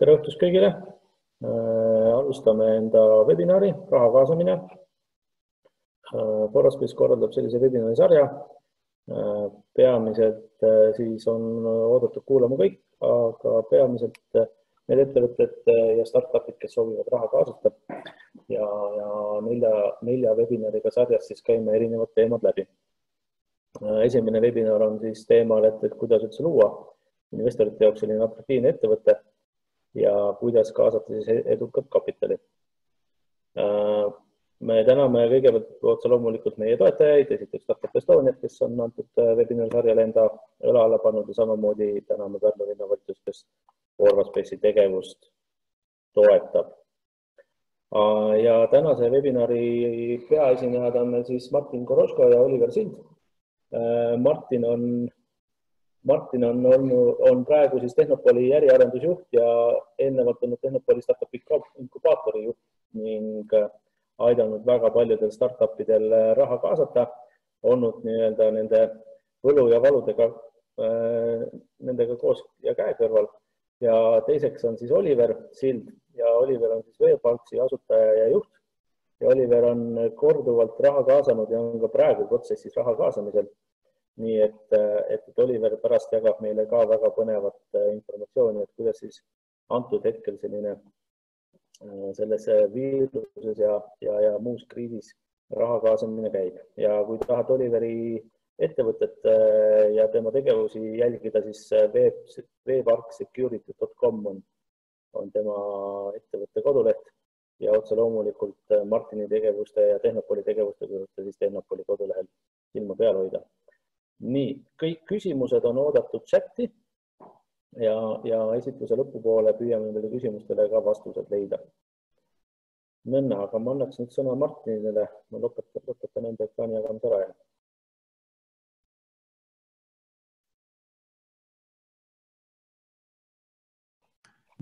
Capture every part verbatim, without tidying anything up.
Tere õhtust kõigile! Alustame enda webinari Raha kaasamine. Foraspace korraldab sellise webinari sarja. Peamiselt siis on oodatud kuulama kõik, aga peamiselt need ettevõtted ja startupid, kes soovivad raha kaasata. Ja, ja nelja, nelja webinariga sarjas siis käime erinevad teemad läbi. Esimene webinar on siis teemal, et, et kuidas üldse luua investorite jaoks selline atraktiivne ettevõte ja kuidas kaasata siis edukat kapitali. Me täname kõigepealt otse loomulikult meie toetajaid, esiteks Startup Estoniat, kes on antud webinari sarjale enda õla alla pannud ja samamoodi täname Pärnu linnavalitsus, kes Foraspace'i tegevust toetab. Ja tänase webinari peaesinejad on siis Martin Koroško ja Oliver Sild. Martin on Martin on, on, on praegu siis Tehnopoli äriarendusjuht ja eelnevalt olnud Tehnopoli startup inkubaatori juht ning aidanud väga paljudel startupidel raha kaasata, olnud nii-öelda nende võlu ja valudega nendega koos ja käe kõrval. Ja teiseks on siis Oliver Sild ja Oliver on siis Veeparksi asutaja ja juht. Ja Oliver on korduvalt raha kaasanud ja on ka praegu protsessis raha kaasamisel. Nii et, et, et Oliver pärast jagab meile ka väga põnevat informatsiooni, et kuidas siis antud hetkel selline selles viiruses ja, ja, ja muus kriisis raha kaasamine käib. Ja kui tahad Oliveri ettevõtet ja tema tegevusi jälgida, siis veepark security dot com on, on tema ettevõtte koduleht ja otse loomulikult Martini tegevuste ja Tehnopoli tegevuste juurde siis Tehnopoli kodulehel silma peal hoida. Nii, kõik küsimused on oodatud chati ja, ja esitluse lõpupoole püüame nende küsimustele ka vastused leida. Nõnna, aga ma annaks nüüd sõna Martinile, ma lõpetan, lõpetan enda ekraani jagamise ära.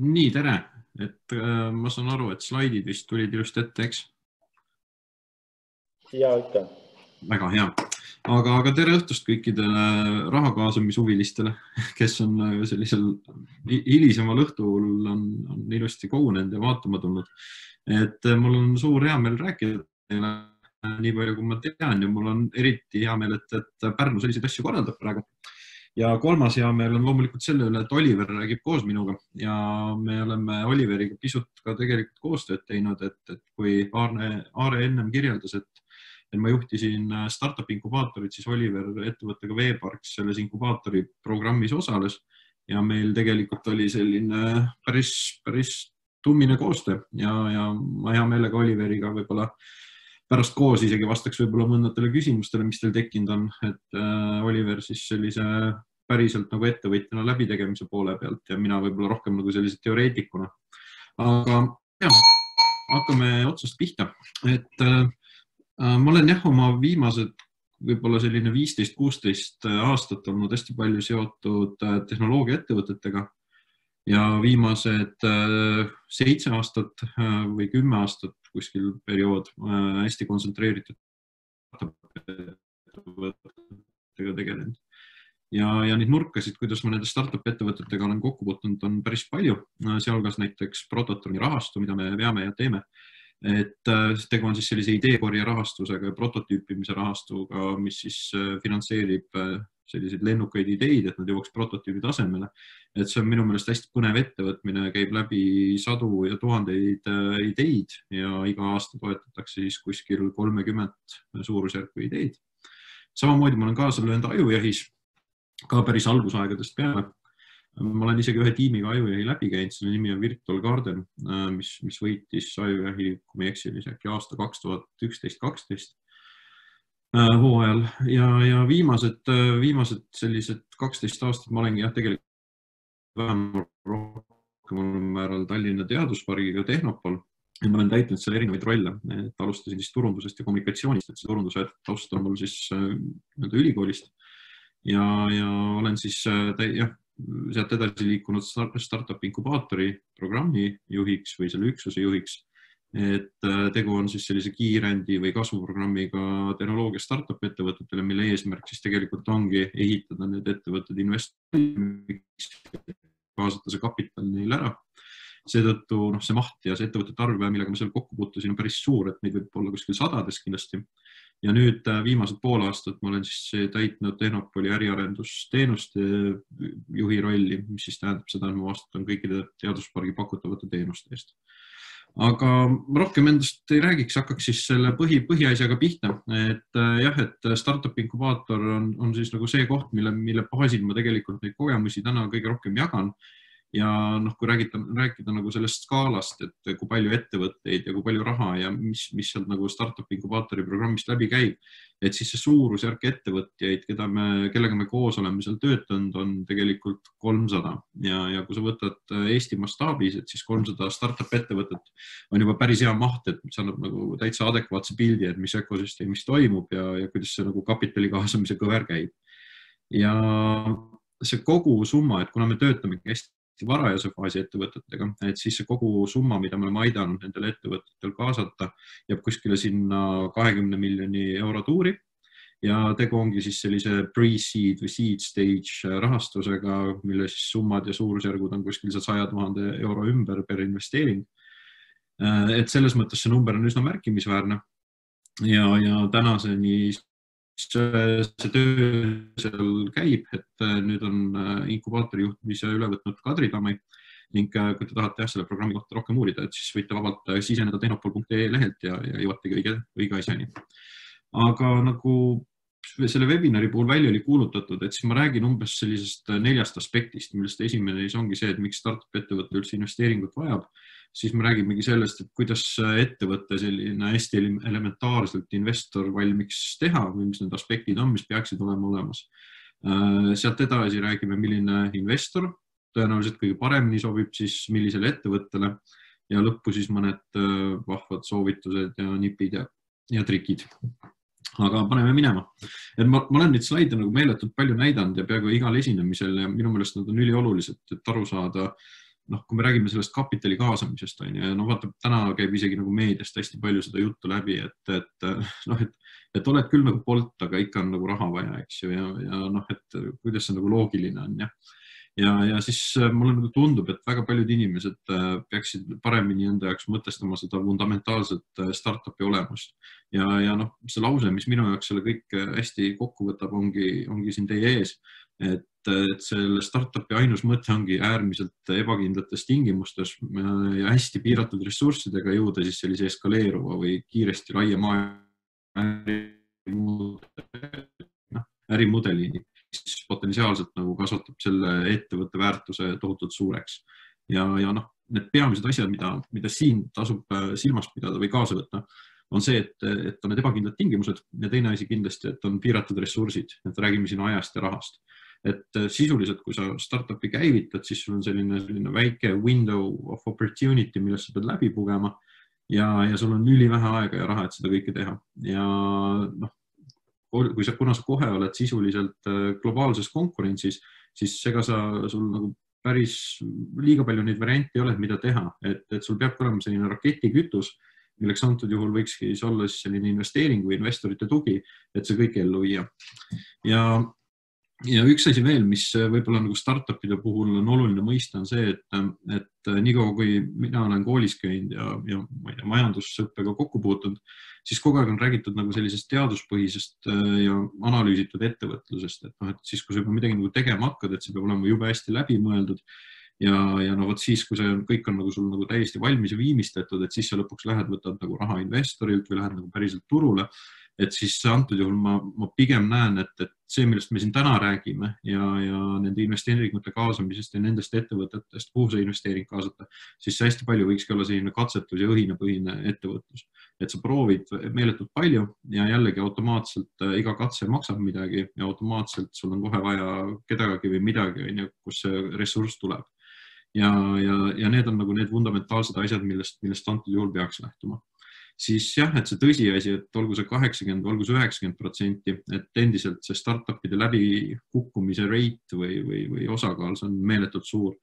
Nii, tere! Et, äh, ma saan aru, et slaidid vist tulid just ette, eks? Ja, ikka. Väga hea. Aga, aga tere õhtust kõikidele raha kaasamishuvilistele, kes on sellisel hilisemal õhtul on, on ilusti kogunenud ja vaatama tulnud. Et mul on suur hea meel rääkida teile nii palju, kui ma tean ja mul on eriti hea meel, et, et Pärnu selliseid asju korraldab praegu. Ja kolmas hea meel on loomulikult selle üle, et Oliver räägib koos minuga ja me oleme Oliveriga pisut ka tegelikult koostööd teinud, et, et kui Aare, Aare ennem kirjeldas, et Et ma juhtisin startup inkubaatorit, siis Oliver ettevõttega Veeparks selles inkubaatori programmis osales ja meil tegelikult oli selline päris, päris tummine koostöö ja, ja ma hea meelega Oliveriga võib-olla pärast koos isegi vastaks võib-olla mõndatele küsimustele, mis teil tekkinud on, et Oliver siis sellise päriselt nagu ettevõtjana läbitegemise poole pealt ja mina võib-olla rohkem nagu sellise teoreetikuna. Aga ja, hakkame otsast pihta, et ma olen jah oma viimased võib-olla selline viisteist kuusteist aastat olnud hästi palju seotud tehnoloogia ettevõtetega ja viimased seitse aastat või kümme aastat kuskil periood hästi kontsentreeritud ettevõtetega tegelenud. Ja, ja neid nurkasid, kuidas ma nende startup ettevõtetega olen kokku puutunud, on päris palju, sealhulgas näiteks Prototroni rahastu, mida me veame ja teeme. Et tegu on siis sellise ideekorje rahastusega ja prototüüpimise rahastuga, mis siis finantseerib selliseid lennukaid ideid, et nad jõuaks prototüübi tasemele. Et see on minu meelest hästi põnev ettevõtmine, käib läbi sadu ja tuhandeid ideid ja iga aasta toetatakse siis kuskil kolmekümmend suurusjärku ideid. Samamoodi ma olen kaasa löönud ajujahis, ka päris algusaegadest peale. Ma olen isegi ühe tiimiga ajujahi läbi käinud, selle nimi on Virtual Garden, mis, mis võitis ajujahi, kui me eksili, äkki aasta kaks tuhat üksteist kaksteist hooajal. Ja, ja viimased, viimased sellised kaksteist aastat ma olengi jah tegelikult vähemalt rohkem määral Tallinna teaduspargiga Tehnopol ja ma olen täitnud selle erinevaid rolle. Et alustasin siis turundusest ja kommunikatsioonist, et see turunduse taust on mul siis ülikoolist ja, ja olen siis jah, sealt edasi liikunud startup inkubaatori programmi juhiks või selle üksuse juhiks, et tegu on siis sellise kiirendi või kasvuprogrammiga tehnoloogia startup ettevõtetele, mille eesmärk siis tegelikult ongi ehitada need ettevõtted investoriks, kaasata see kapital neil ära seetõttu noh, see maht ja see ettevõtete arv, millega ma seal kokku puutusin, on päris suur, et neid võib olla kuskil sadades kindlasti. Ja nüüd viimased pool aastat ma olen siis täitnud Tehnopoli äriarendusteenuste juhi rolli, mis siis tähendab seda, et ma vastutan kõikide teaduspargi pakutavate teenuste eest. Aga rohkem endast ei räägiks, hakkaks siis selle põhi, põhiasjaga pihta, et jah, et Startup Inkubaator on, on siis nagu see koht, mille, mille baasil ma tegelikult neid kogemusi täna kõige rohkem jagan. Ja noh, kui räägida, rääkida nagu sellest skaalast, et kui palju ettevõtteid ja kui palju raha ja mis, mis sealt nagu Startup Inkubaatori programmist läbi käib, et siis see suurusjärk ettevõtjaid, keda me, kellega me koos oleme seal töötanud, on tegelikult kolmsada. Ja, ja kui sa võtad Eesti mastaabis, et siis kolmsada startup ettevõtet on juba päris hea maht, et see annab nagu täitsa adekvaatse pildi, et mis ökosüsteemis toimub ja, ja kuidas see nagu kapitali kaasamise kõver käib. Ja see kogu summa, et kuna me töötame hästi varajase faasi ettevõtetega, et siis see kogu summa, mida me oleme aidanud nendel ettevõtetel kaasata, jääb kuskile sinna kahekümne miljoni euro tuuri ja tegu ongi siis sellise pre-seed või seed stage rahastusega, mille siis summad ja suurusjärgud on kuskil saja tuhande euro ümber per investeering. Et selles mõttes see number on üsna märkimisväärne ja, ja tänaseni see töö seal käib, et nüüd on inkubaatori juhtimise üle võtnud Kadri Tamai ning kui te tahate jah, selle programmi kohta rohkem uurida, et siis võite vabalt siseneda tehnopol punkt ee lehelt ja, ja jõuategi õige, õige asjani. Aga nagu selle webinari puhul välja oli kuulutatud, et siis ma räägin umbes sellisest neljast aspektist, millest esimene ongi see, et miks startup ettevõtte üldse investeeringut vajab. Siis me räägimegi sellest, et kuidas ettevõtte selline hästi elementaarselt investor valmiks teha või mis need aspektid on, mis peaksid olema olemas. Sealt edasi räägime, milline investor tõenäoliselt kõige paremini sobib siis millisele ettevõttele ja lõppu siis mõned vahvad soovitused ja nipid ja, ja trikid. Aga paneme minema. Et ma, ma olen neid slaide nagu meeletult palju näidanud ja peaaegu igal esinemisel ja minu meelest nad on üliolulised, et aru saada. Noh, kui me räägime sellest kapitali kaasamisest, on ja no vaata, täna käib isegi nagu meediast hästi palju seda juttu läbi, et, et, noh, et, et oled küll nagu polt, aga ikka on nagu raha vaja, eks ju, ja, ja noh, et kuidas see nagu loogiline on, ja. Ja, ja siis mulle nagu tundub, et väga paljud inimesed peaksid paremini enda jaoks mõtestama seda fundamentaalset startupi olemust. Ja, ja noh, see lause, mis minu jaoks selle kõik hästi kokku võtab, ongi, ongi siin teie ees, et, et selle startupi ainus mõte ongi äärmiselt ebakindlates tingimustes ja hästi piiratud ressurssidega jõuda siis sellise eskaleeruva või kiiresti laia maailma ärimudelini, mis potentsiaalselt nagu kasvatab selle ettevõtte väärtuse tohutult suureks. Ja, ja noh, need peamised asjad, mida, mida siin tasub silmas pidada või kaasa võtta, on see, et, et on need ebakindlad tingimused ja teine asi kindlasti, et on piiratud ressursid, et räägime siin ajast ja rahast. Et sisuliselt, kui sa startupi käivitad, siis sul on selline, selline väike window of opportunity, millest sa pead läbi pugema ja, ja sul on ülivähe aega ja raha, et seda kõike teha. Ja noh, kui sa, kuna sa kohe oled sisuliselt globaalses konkurentsis, siis ega sa sul nagu päris liiga palju neid variante ei ole, mida teha, et, et sul peab olema selline raketikütus, milleks antud juhul võikski olla selline investeering või investorite tugi, et see kõik ellu viia. Ja, ja üks asi veel, mis võib-olla nagu startupide puhul on oluline mõista, on see, et, et nii kaua, kui mina olen koolis käinud ja, ja ma ei tea, majandusõppega kokku puutunud, siis kogu aeg on räägitud nagu sellisest teaduspõhisest ja analüüsitud ettevõtlusest, et, noh, et siis, kui sa juba midagi nagu tegema hakkad, et see peab olema jube hästi läbimõeldud ja, ja no vot siis, kui see kõik on nagu sul nagu täiesti valmis ja viimistletud, et siis sa lõpuks lähed, võtad nagu raha investorilt või lähed nagu päriselt turule, et siis antud juhul ma, ma pigem näen, et, et see, millest me siin täna räägime ja, ja nende investeeringute kaasamisest ja nendest ettevõtetest, kuhu see investeering kaasata, siis see hästi palju võikski olla selline katsetus ja õhinapõhine ettevõtlus. Et sa proovid meeletult palju ja jällegi automaatselt iga katse maksab midagi ja automaatselt sul on kohe vaja kedagi või midagi, kus see ressurss tuleb. Ja, ja, ja need on nagu need fundamentaalsed asjad, millest, millest antud juhul peaks lähtuma. Siis jah, et see tõsiasi, et olgu see kaheksakümmend, olgu see üheksakümmend protsenti, et endiselt see startupide läbi kukkumise rate või, või, või osakaal, see on meeletult suur.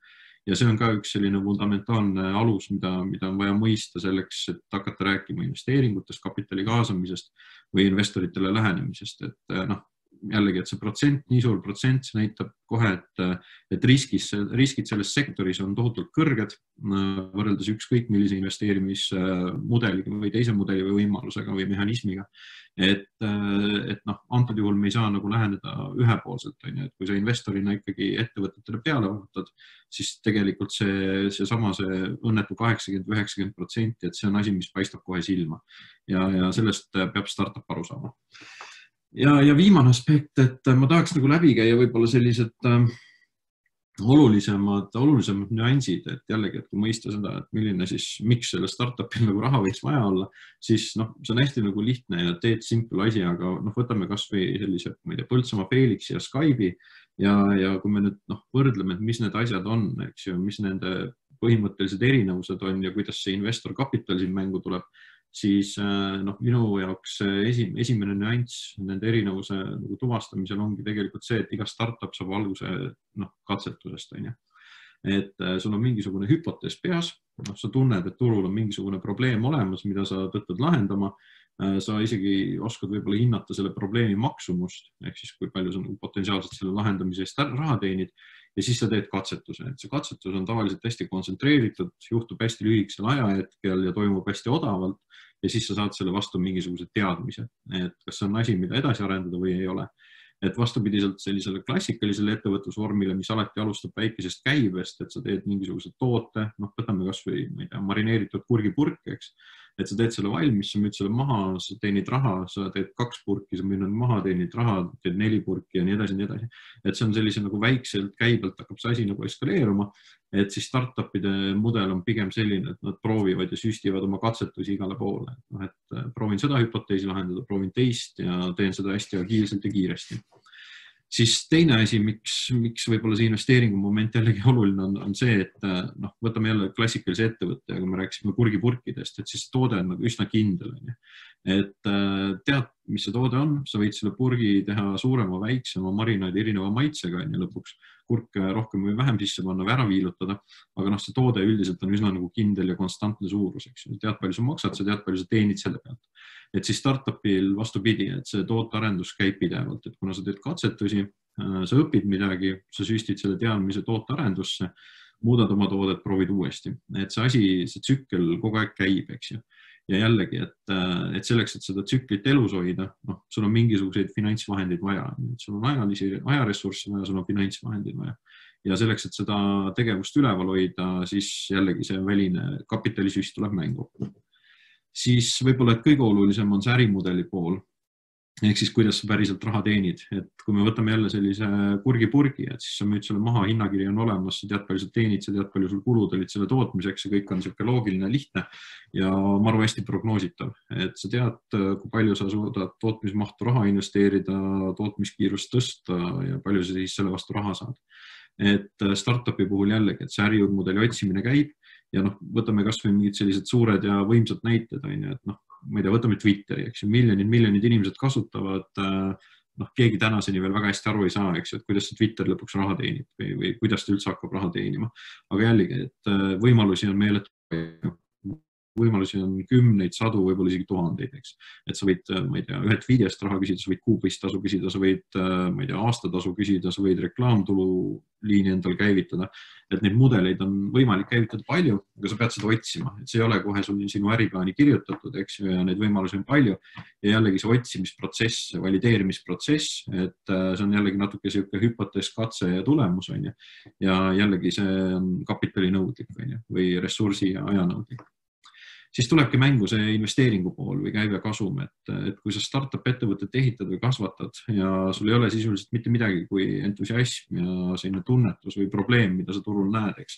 Ja see on ka üks selline fundamentaalne alus, mida, mida on vaja mõista selleks, et hakata rääkima investeeringutest, kapitali kaasamisest või investoritele lähenemisest. Et noh, jällegi, et see protsent, nii suur protsent, see näitab kohe, et, et riskis, riskid selles sektoris on tohutult kõrged võrreldes ükskõik millise investeerimismudeliga või teise mudeli või võimalusega või mehhanismiga. Et, et noh, antud juhul me ei saa nagu läheneda ühepoolselt, on ju, et kui sa investorina ikkagi ettevõtetele peale vaatad, siis tegelikult see, see sama see õnnetu kaheksakümmend või üheksakümmend protsenti, et see on asi, mis paistab kohe silma ja, ja sellest peab startup aru saama. Ja, ja viimane aspekt, et ma tahaks nagu läbi käia võib-olla sellised äh, olulisemad, olulisemad nüansid, et jällegi, et kui mõista seda, et milline siis, miks selle startupil nagu raha võiks vaja olla, siis noh, see on hästi nagu lihtne ja teed simple asi, aga noh, võtame kas või sellise, ma ei tea, Põltsamaa Felixi ja Skype'i ja, ja kui me nüüd noh, võrdleme, et mis need asjad on, eks ju, mis nende põhimõttelised erinevused on ja kuidas see investor kapital siin mängu tuleb, siis noh, minu jaoks esimene nüanss nende erinevuse nagu tuvastamisel ongi tegelikult see, et iga startup saab alguse noh, katsetusest. On ju. Et sul on mingisugune hüpotees peas, noh, sa tunned, et turul on mingisugune probleem olemas, mida sa tõttad lahendama, sa isegi oskad võib-olla hinnata selle probleemi maksumust, ehk siis kui palju sa nagu potentsiaalselt selle lahendamise eest raha teenid ja siis sa teed katsetuse. Et see katsetus on tavaliselt hästi kontsentreeritud, juhtub hästi lühikesel ajahetkel ja toimub hästi odavalt ja siis sa saad selle vastu mingisugused teadmised, et kas see on asi, mida edasi arendada või ei ole. Et vastupidiselt sellisele klassikalisele ettevõtlusvormile, mis alati alustab väikesest käibest, et sa teed mingisuguse toote, noh, võtame kas või ma ei tea, marineeritud kurgipurk, eks, et sa teed selle valmis, sa müüd selle maha, sa teenid raha, sa teed kaks purki, sa müüd maha, teenid raha, teed neli purki ja nii edasi, nii edasi. Et see on sellise nagu väikselt käibelt hakkab see asi nagu eskaleeruma, et siis startupide mudel on pigem selline, et nad proovivad ja süstivad oma katsetusi igale poole. No, et proovin seda hüpoteesi lahendada, proovin teist ja teen seda hästi agiilselt ja kiiresti. Siis teine asi, miks, miks võib-olla see investeeringu moment jällegi oluline on, on see, et noh, võtame jälle klassikalise ettevõtte ja kui me rääkisime kurgipurkidest, et siis toode on nagu üsna kindel. Et tead, mis see toode on, sa võid selle purgi teha suurema, väiksema, marinaadi erineva maitsega ja lõpuks kurk rohkem või vähem sisse panna või ära viilutada, aga noh, see toode üldiselt on üsna nagu kindel ja konstantne suurus, eks ju. Tead, palju sa maksad, sa tead, palju sa teenid selle pealt. Et siis startupil vastupidi, et see tootearendus käib pidevalt, et kuna sa teed katsetusi, sa õpid midagi, sa süstid selle teadmise tootearendusse, muudad oma toodet, proovid uuesti. Et see asi, see tsükkel kogu aeg käib, eks ju. Ja jällegi, et, et selleks, et seda tsüklit elus hoida, noh, sul on mingisuguseid finantsvahendeid vaja. Sul on ajalisi, ajaressurssi vaja, sul on finantsvahendeid vaja. Ja selleks, et seda tegevust üleval hoida, siis jällegi see väline kapitalisüst tuleb mängu. Siis võib-olla kõige olulisem on see ärimudeli pool. Ehk siis, kuidas sa päriselt raha teenid. Et kui me võtame jälle sellise kurgipurgi, et siis sa müüd selle maha, hinnakiri on olemas, sa tead, palju sa teenid, sa tead, palju sul kulud olid selle tootmiseks ja kõik on selline loogiline, lihtne ja maru hästi prognoositav. Et sa tead, kui palju sa suudad tootmismahtu raha investeerida, tootmiskiirust tõsta ja palju sa siis selle vastu raha saad. Et startupi puhul jällegi, et see ärimudeli otsimine käib ja noh, võtame kas või mingid sellised suured ja võimsad näited, on ju, et noh, ma ei tea, võtame Twitteri, eks ju, miljonid, miljonid inimesed kasutavad, noh, keegi tänaseni veel väga hästi aru ei saa, eks ju, et kuidas see Twitter lõpuks raha teenib või, või kuidas ta üldse hakkab raha teenima. Aga jällegi, et võimalusi on meeletult palju. Võimalusi on kümneid, sadu, võib-olla isegi tuhandeid, eks. Et sa võid, ma ei tea, ühelt videost raha küsida, sa võid kuupõist tasu küsida, sa võid, ma ei tea, aastatasu küsida, sa võid reklaamtulu liini endal käivitada. Et neid mudeleid on võimalik käivitada palju, aga sa pead seda otsima. Et see ei ole kohe sul sinu äriplaani kirjutatud, eks ju, ja neid võimalusi on palju. Ja jällegi see otsimisprotsess, valideerimisprotsess, et see on jällegi natuke selline hüpotees, katse ja tulemus, on ju. Ja jällegi see on kapitalinõudlik, on ju, või ressursi ja ajanõudlik. Siis tulebki mängu see investeeringu pool või käive kasum, et, et kui sa startup ettevõtet ehitad või kasvatad ja sul ei ole sisuliselt mitte midagi kui entusiasm ja selline tunnetus või probleem, mida sa turul näed, eks,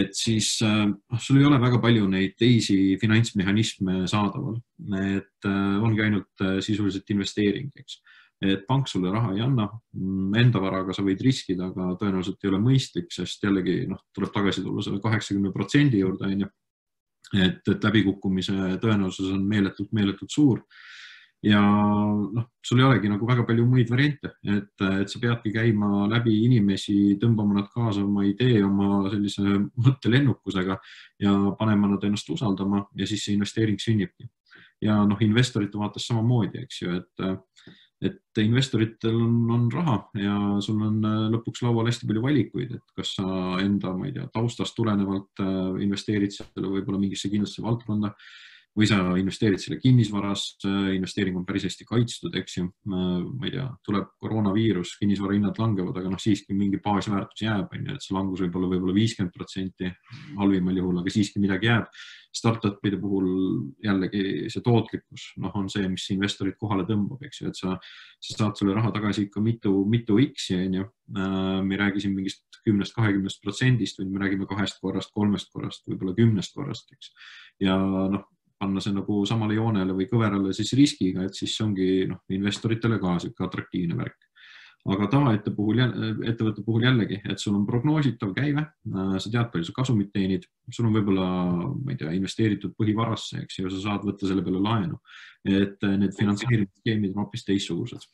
et siis äh, sul ei ole väga palju neid teisi finantsmehhanisme saadaval, et äh, ongi ainult äh, sisuliselt investeering, eks. Et pank sulle raha ei anna, enda varaga sa võid riskida, aga tõenäoliselt ei ole mõistlik, sest jällegi noh, tuleb tagasi tulla selle kaheksakümne protsendi juurde, on ju. Et, et läbikukkumise tõenäosus on meeletult, meeletult suur ja noh, sul ei olegi nagu väga palju muid variante, et, et sa peadki käima läbi inimesi, tõmbama nad kaasa oma idee, oma sellise mõttelennukusega ja panema nad ennast usaldama ja siis see investeering sünnibki. Ja noh, investorite vaates samamoodi, eks ju, et et investoritel on, on raha ja sul on lõpuks laual hästi palju valikuid, et kas sa enda, ma ei tea, taustast tulenevalt investeerid selle võib-olla mingisse kindlasse valdkonda või sa investeerid selle kinnisvarasse, investeering on päris hästi kaitstud, eks ju. Ma ei tea, tuleb koroonaviirus, kinnisvara hinnad langevad, aga noh, siiski mingi baasväärtus jääb, et see langus võib olla võib-olla viiskümmend protsenti halvimal juhul, aga siiski midagi jääb. Startupide puhul jällegi see tootlikkus noh, on see, mis investorid kohale tõmbab, eks ju, et sa, sa saad selle raha tagasi ikka mitu, mitu X-i, on ju. Me ei räägi siin mingist kümnest, kahekümnest protsendist, või me räägime kahest korrast, kolmest korrast, võib-olla kümnest korrast, eks. Ja noh, panna see nagu samale joonele või kõverale siis riskiga, et siis see ongi noh, investoritele ka siuke atraktiivne värk. Aga tavaette puhul, ettevõtte puhul jällegi, et sul on prognoositav käive, sa tead, palju sa kasumit teenid, sul on võib-olla, ma ei tea, investeeritud põhivarasse, eks ju, sa saad võtta selle peale laenu, et need finantseerimisskeemid on hoopis teistsugused.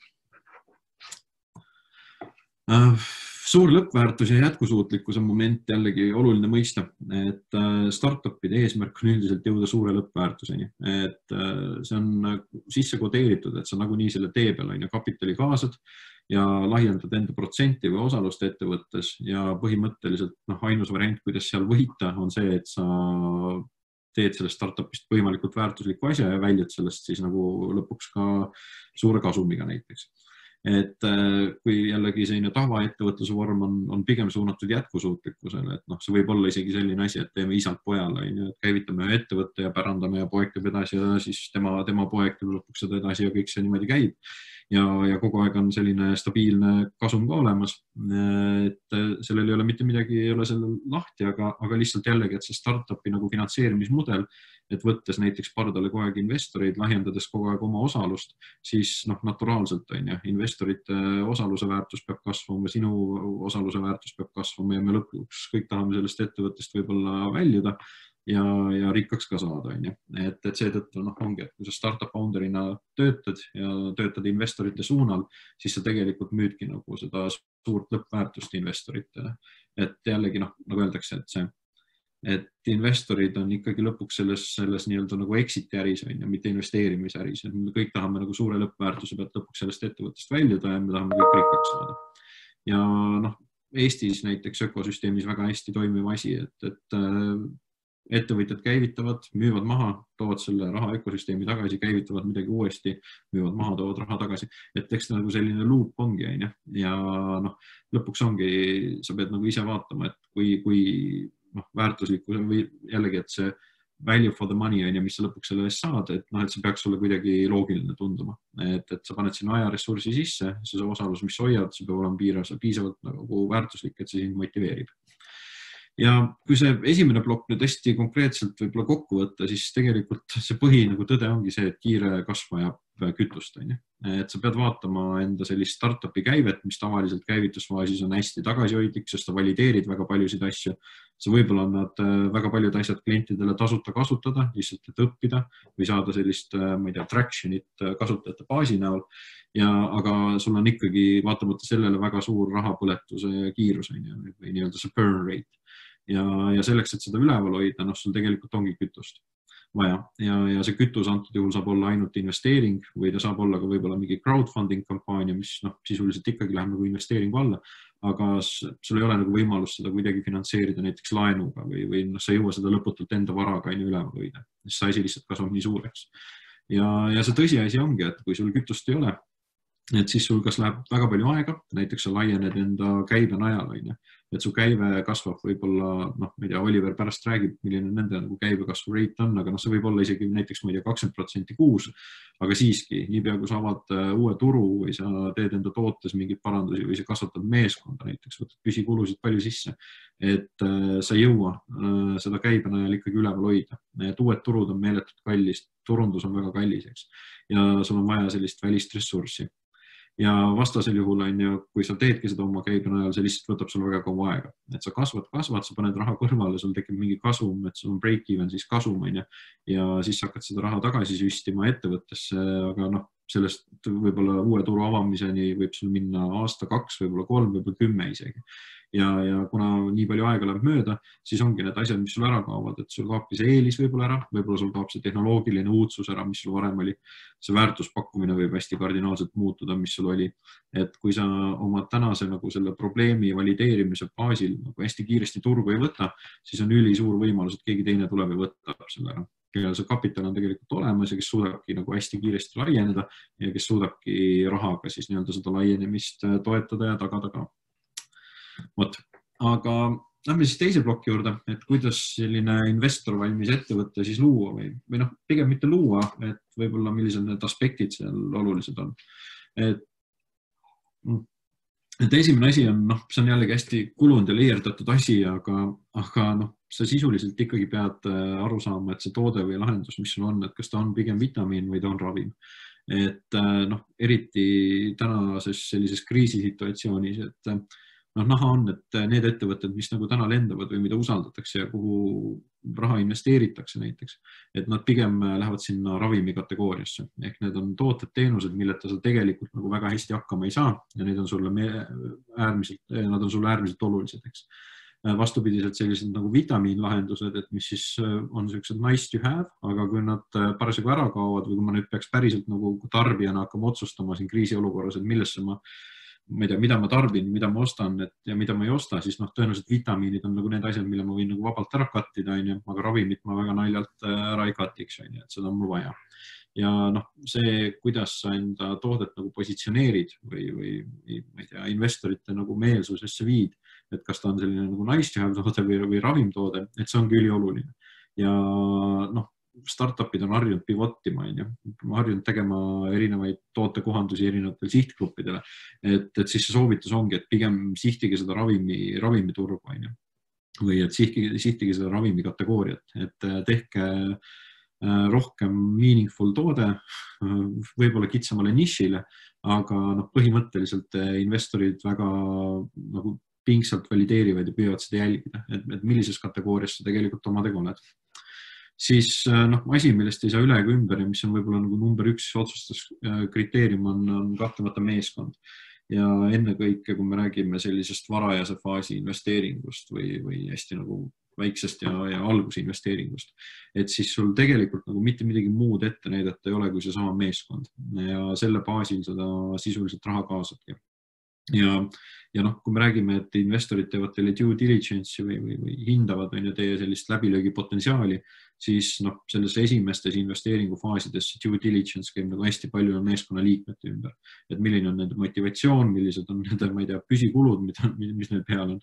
Suur lõppväärtus ja jätkusuutlikkuse moment jällegi oluline mõista, et startupide eesmärk on üldiselt jõuda suure lõppväärtuseni, et see on sisse kodeeritud, et sa nagunii selle tee peal on ja kapitali kaasad ja lahjendad enda protsenti või osalust ettevõttes ja põhimõtteliselt noh, ainus variant, kuidas seal võita, on see, et sa teed sellest startupist võimalikult väärtuslikku asja ja väljud sellest siis nagu lõpuks ka suure kasumiga näiteks. Et kui jällegi selline tavaettevõtluse vorm on, on pigem suunatud jätkusuutlikkusele, et noh, see võib olla isegi selline asi, et teeme isalt pojale, et käivitame ettevõtte ja pärandame ja poeg teeb edasi ja siis tema, tema poeg teeb lõpuks seda edasi ja kõik see niimoodi käib. Ja, ja kogu aeg on selline stabiilne kasum ka olemas, et sellel ei ole mitte midagi, ei ole sellel lahti, aga, aga lihtsalt jällegi, et see startupi nagu finantseerimismudel, et võttes näiteks pardale kogu aeg investoreid, lahjendades kogu aeg oma osalust, siis noh, naturaalselt on ja investorite osaluse väärtus peab kasvama, sinu osaluse väärtus peab kasvama ja me lõpuks kõik tahame sellest ettevõttest võib-olla väljuda ja, ja rikkaks ka saada, on ju. Et, et seetõttu noh, ongi, et kui sa startup founderina töötad ja töötad investorite suunal, siis sa tegelikult müüdki nagu seda suurt lõppväärtust investoritele. Et jällegi noh, nagu öeldakse, et see et investorid on ikkagi lõpuks selles, selles nii-öelda nagu exit äris, on ja mitte investeerimise äris. Me kõik tahame nagu suure lõppväärtuse pealt lõpuks sellest ettevõttest väljuda ja me tahame kõik rikkaks saada. Ja noh, Eestis näiteks ökosüsteemis väga hästi toimiv asi, et, et ettevõtjad käivitavad, müüvad maha, toovad selle raha ökosüsteemi tagasi, käivitavad midagi uuesti, müüvad maha, toovad raha tagasi. Et eks nagu selline loop ongi, on ja, ja noh, lõpuks ongi, sa pead nagu ise vaatama, et kui, kui noh, väärtuslikkus või jällegi, et see value for the money on ja mis sa lõpuks selle eest saad, et noh, et see peaks sulle kuidagi loogiline tunduma, et, et sa paned sinna ajaressursi sisse, see osalus, mis hoiad, see peab olema piirav, piisavalt nagu väärtuslik, et see sind motiveerib. Ja kui see esimene plokk nüüd hästi konkreetselt võib-olla kokku võtta, siis tegelikult see põhi nagu tõde ongi see, et kiire kasv vajab kütust, on ju. Et sa pead vaatama enda sellist startupi käivet, mis tavaliselt käivitusfaasis on hästi tagasihoidlik, sest sa valideerid väga paljusid asju. Sa võib-olla annad väga paljud asjad klientidele tasuta kasutada, lihtsalt et õppida või saada sellist, ma ei tea, tractionit kasutajate baasi näol. Ja, aga sul on ikkagi vaatamata sellele väga suur rahapõletuse kiirus, on ju, või nii-öelda see burn rate. Ja, ja selleks, et seda üleval hoida, noh, sul tegelikult ongi kütust vaja. Ja, ja see kütus antud juhul saab olla ainult investeering või ta saab olla ka võib-olla mingi crowdfunding kampaania, mis noh, sisuliselt ikkagi läheb nagu investeeringu alla, aga sul ei ole nagu võimalust seda kuidagi finantseerida näiteks laenuga või, või noh, sa ei jõua seda lõputult enda varaga ainu üleval hoida, sest see asi lihtsalt kasvab nii suureks. Ja, ja see tõsiasi ongi, et kui sul kütust ei ole, et siis sul kas läheb väga palju aega, näiteks sa laiened enda käibe najal, on ju. Et su käive kasvab võib-olla, noh, ma ei tea, Oliver pärast räägib, milline nende nagu käibe kasvu rate on, aga noh, see võib olla isegi näiteks, ma ei tea, kakskümmend protsenti kuus, aga siiski, niipea kui sa avad uue turu või sa teed enda tootes mingid parandusi või sa kasvatad meeskonda näiteks, võtad püsikulusid palju sisse, et sa ei jõua seda käibe najal ikkagi üleval hoida. Et uued turud on meeletult kallis, turundus on väga kallis, eks, ja sul on vaja sellist välist ressurssi. Ja vastasel juhul on ju, kui sa teedki seda oma käibe najal, see lihtsalt võtab sul väga kaua aega. Et sa kasvad, kasvad, sa paned raha kõrvale, sul tekib mingi kasum, et sul on break-even, siis kasum, on ju, ja siis hakkad seda raha tagasi süstima ettevõttesse, aga noh, sellest võib-olla uue turu avamiseni võib sul minna aasta, kaks, võib-olla kolm, võib-olla kümme isegi. Ja, ja kuna nii palju aega läheb mööda, siis ongi need asjad, mis sul ära kaovad, et sul kaobki see eelis võib-olla ära, võib-olla sul kaob see tehnoloogiline uudsus ära, mis sul varem oli. See väärtuspakkumine võib hästi kardinaalselt muutuda, mis sul oli. Et kui sa oma tänase nagu selle probleemi valideerimise baasil nagu hästi kiiresti turgu ei võta, siis on üli suur võimalus, et keegi teine tuleb ja võtab selle ära. Kellel see kapital on tegelikult olemas ja kes suudabki nagu hästi kiiresti laieneda ja kes suudabki rahaga siis nii-öelda seda laienemist toetada ja tagada ka. Võt. Aga lähme siis teise ploki juurde, et kuidas selline investor valmis ettevõtte siis luua või, või noh, pigem mitte luua, et võib-olla millised need aspektid seal olulised on. Et, et esimene asi on, noh, see on jällegi hästi kulunud ja leierdatud asi, aga, aga noh, sa sisuliselt ikkagi pead aru saama, et see toode või lahendus, mis sul on, et kas ta on pigem vitamiin või ta on ravim. Et noh, eriti tänases sellises kriisisituatsioonis, et noh, näha on, et need ettevõtted, mis nagu täna lendavad või mida usaldatakse ja kuhu raha investeeritakse näiteks, et nad pigem lähevad sinna ravimi kategooriasse. Ehk need on tooted, teenused, milleta sa tegelikult nagu väga hästi hakkama ei saa ja need on sulle äärmiselt, nad on sulle äärmiselt olulised, eks. Vastupidiselt sellised nagu vitamiinlahendused, et mis siis on sellised nice to have, aga kui nad parasjagu ära kaovad või kui ma nüüd peaks päriselt nagu tarbijana hakkama otsustama siin kriisiolukorras, et millesse ma ma ei tea, mida ma tarbin, mida ma ostan et, ja mida ma ei osta, siis noh, tõenäoliselt vitamiinid on nagu need asjad, mille ma võin nagu vabalt ära kattida, aga ravimit ma väga naljalt ära ei kattiks, et seda on mul vaja. Ja noh, see, kuidas sa enda toodet nagu positsioneerid või, või ma ei tea, investorite nagu meelsusesse viid, et kas ta on selline nagu nice to have toode või, või ravimtoode, et see on küll oluline. Ja noh, startupid on harjunud pivotima, harjunud tegema erinevaid tootekohandusi erinevatele sihtgruppidele, et, et siis see soovitus ongi, et pigem sihtige seda ravimi, ravimiturgu või et sihtige, sihtige seda ravimi kategooriat, et tehke rohkem meaningful toode, võib-olla kitsamale nišile, aga noh, põhimõtteliselt investorid väga nagu pingsalt valideerivad ja püüavad seda jälgida, et, et millises kategoorias sa tegelikult omadega oled. Siis noh, asi, millest ei saa üle ega ümber ja mis on võib-olla nagu number üks otsustuskriteerium on, on kahtlemata meeskond. Ja enne kõike, kui me räägime sellisest varajase faasi investeeringust või, või hästi nagu väiksest ja, ja alguse investeeringust, et siis sul tegelikult nagu mitte midagi muud ette näidata ei ole kui see sama meeskond ja selle baasil seda sisuliselt raha kaasabki. Ja, ja noh, kui me räägime, et investorid teevad teile due diligence'i või, või, või hindavad või teie sellist läbilöögi potentsiaali, siis noh, selles esimestes investeeringufaasides due diligence käib nagu hästi palju meeskonna liikmete ümber. Et milline on nende motivatsioon, millised on nende, ma ei tea, püsikulud, mida, mis neil peal on,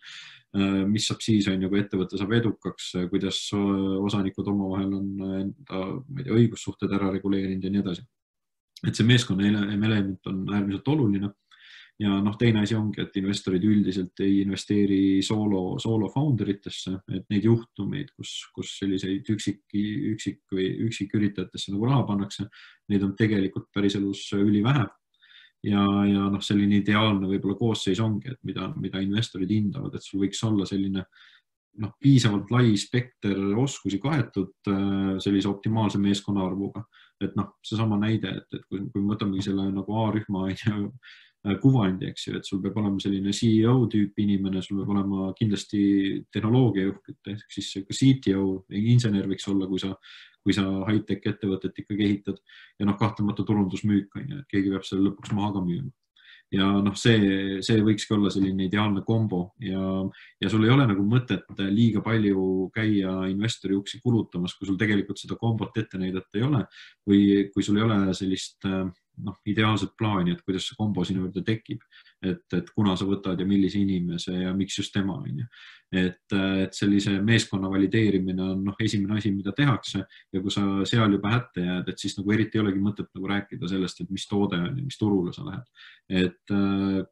mis saab siis on, kui ettevõte saab edukaks, kuidas osanikud omavahel on enda ma ei tea, õigussuhted ära reguleerinud ja nii edasi. Et see meeskonna element on äärmiselt oluline. Ja noh, teine asi ongi, et investorid üldiselt ei investeeri solo, solo founderitesse, et neid juhtumeid, kus, kus selliseid üksik, üksik või üksik üritajatesse nagu raha pannakse, neid on tegelikult päris elus üli vähe. Ja, ja noh, selline ideaalne võib-olla koosseis ongi, et mida, mida investorid hindavad, et sul võiks olla selline noh, piisavalt lai spekter oskusi kaetud sellise optimaalse meeskonna arvuga. Et noh, see sama näide, et, et kui, kui me võtamegi selle nagu A-rühma kuvandi, eks ju, et sul peab olema selline C E O tüüp inimene, sul peab olema kindlasti tehnoloogiajuht, ehk siis C T O, insener võiks olla, kui sa, kui sa high-tech ettevõtet ikkagi ehitad ja noh, kahtlemata turundusmüük, et keegi peab selle lõpuks maha ka müüma. Ja noh, see, see võikski olla selline ideaalne kombo ja, ja sul ei ole nagu mõtet liiga palju käia investori uksi kulutamas, kui sul tegelikult seda kombot ette näidata ei ole või kui sul ei ole sellist noh, ideaalset plaani, et kuidas see kombo sinu juurde tekib, et, et kuna sa võtad ja millise inimese ja miks just tema on. Et, et sellise meeskonna valideerimine on noh, esimene asi, mida tehakse ja kui sa seal juba hätte jääd, et siis nagu eriti ei olegi mõtet nagu rääkida sellest, et mis toode on ja mis turule sa lähed. Et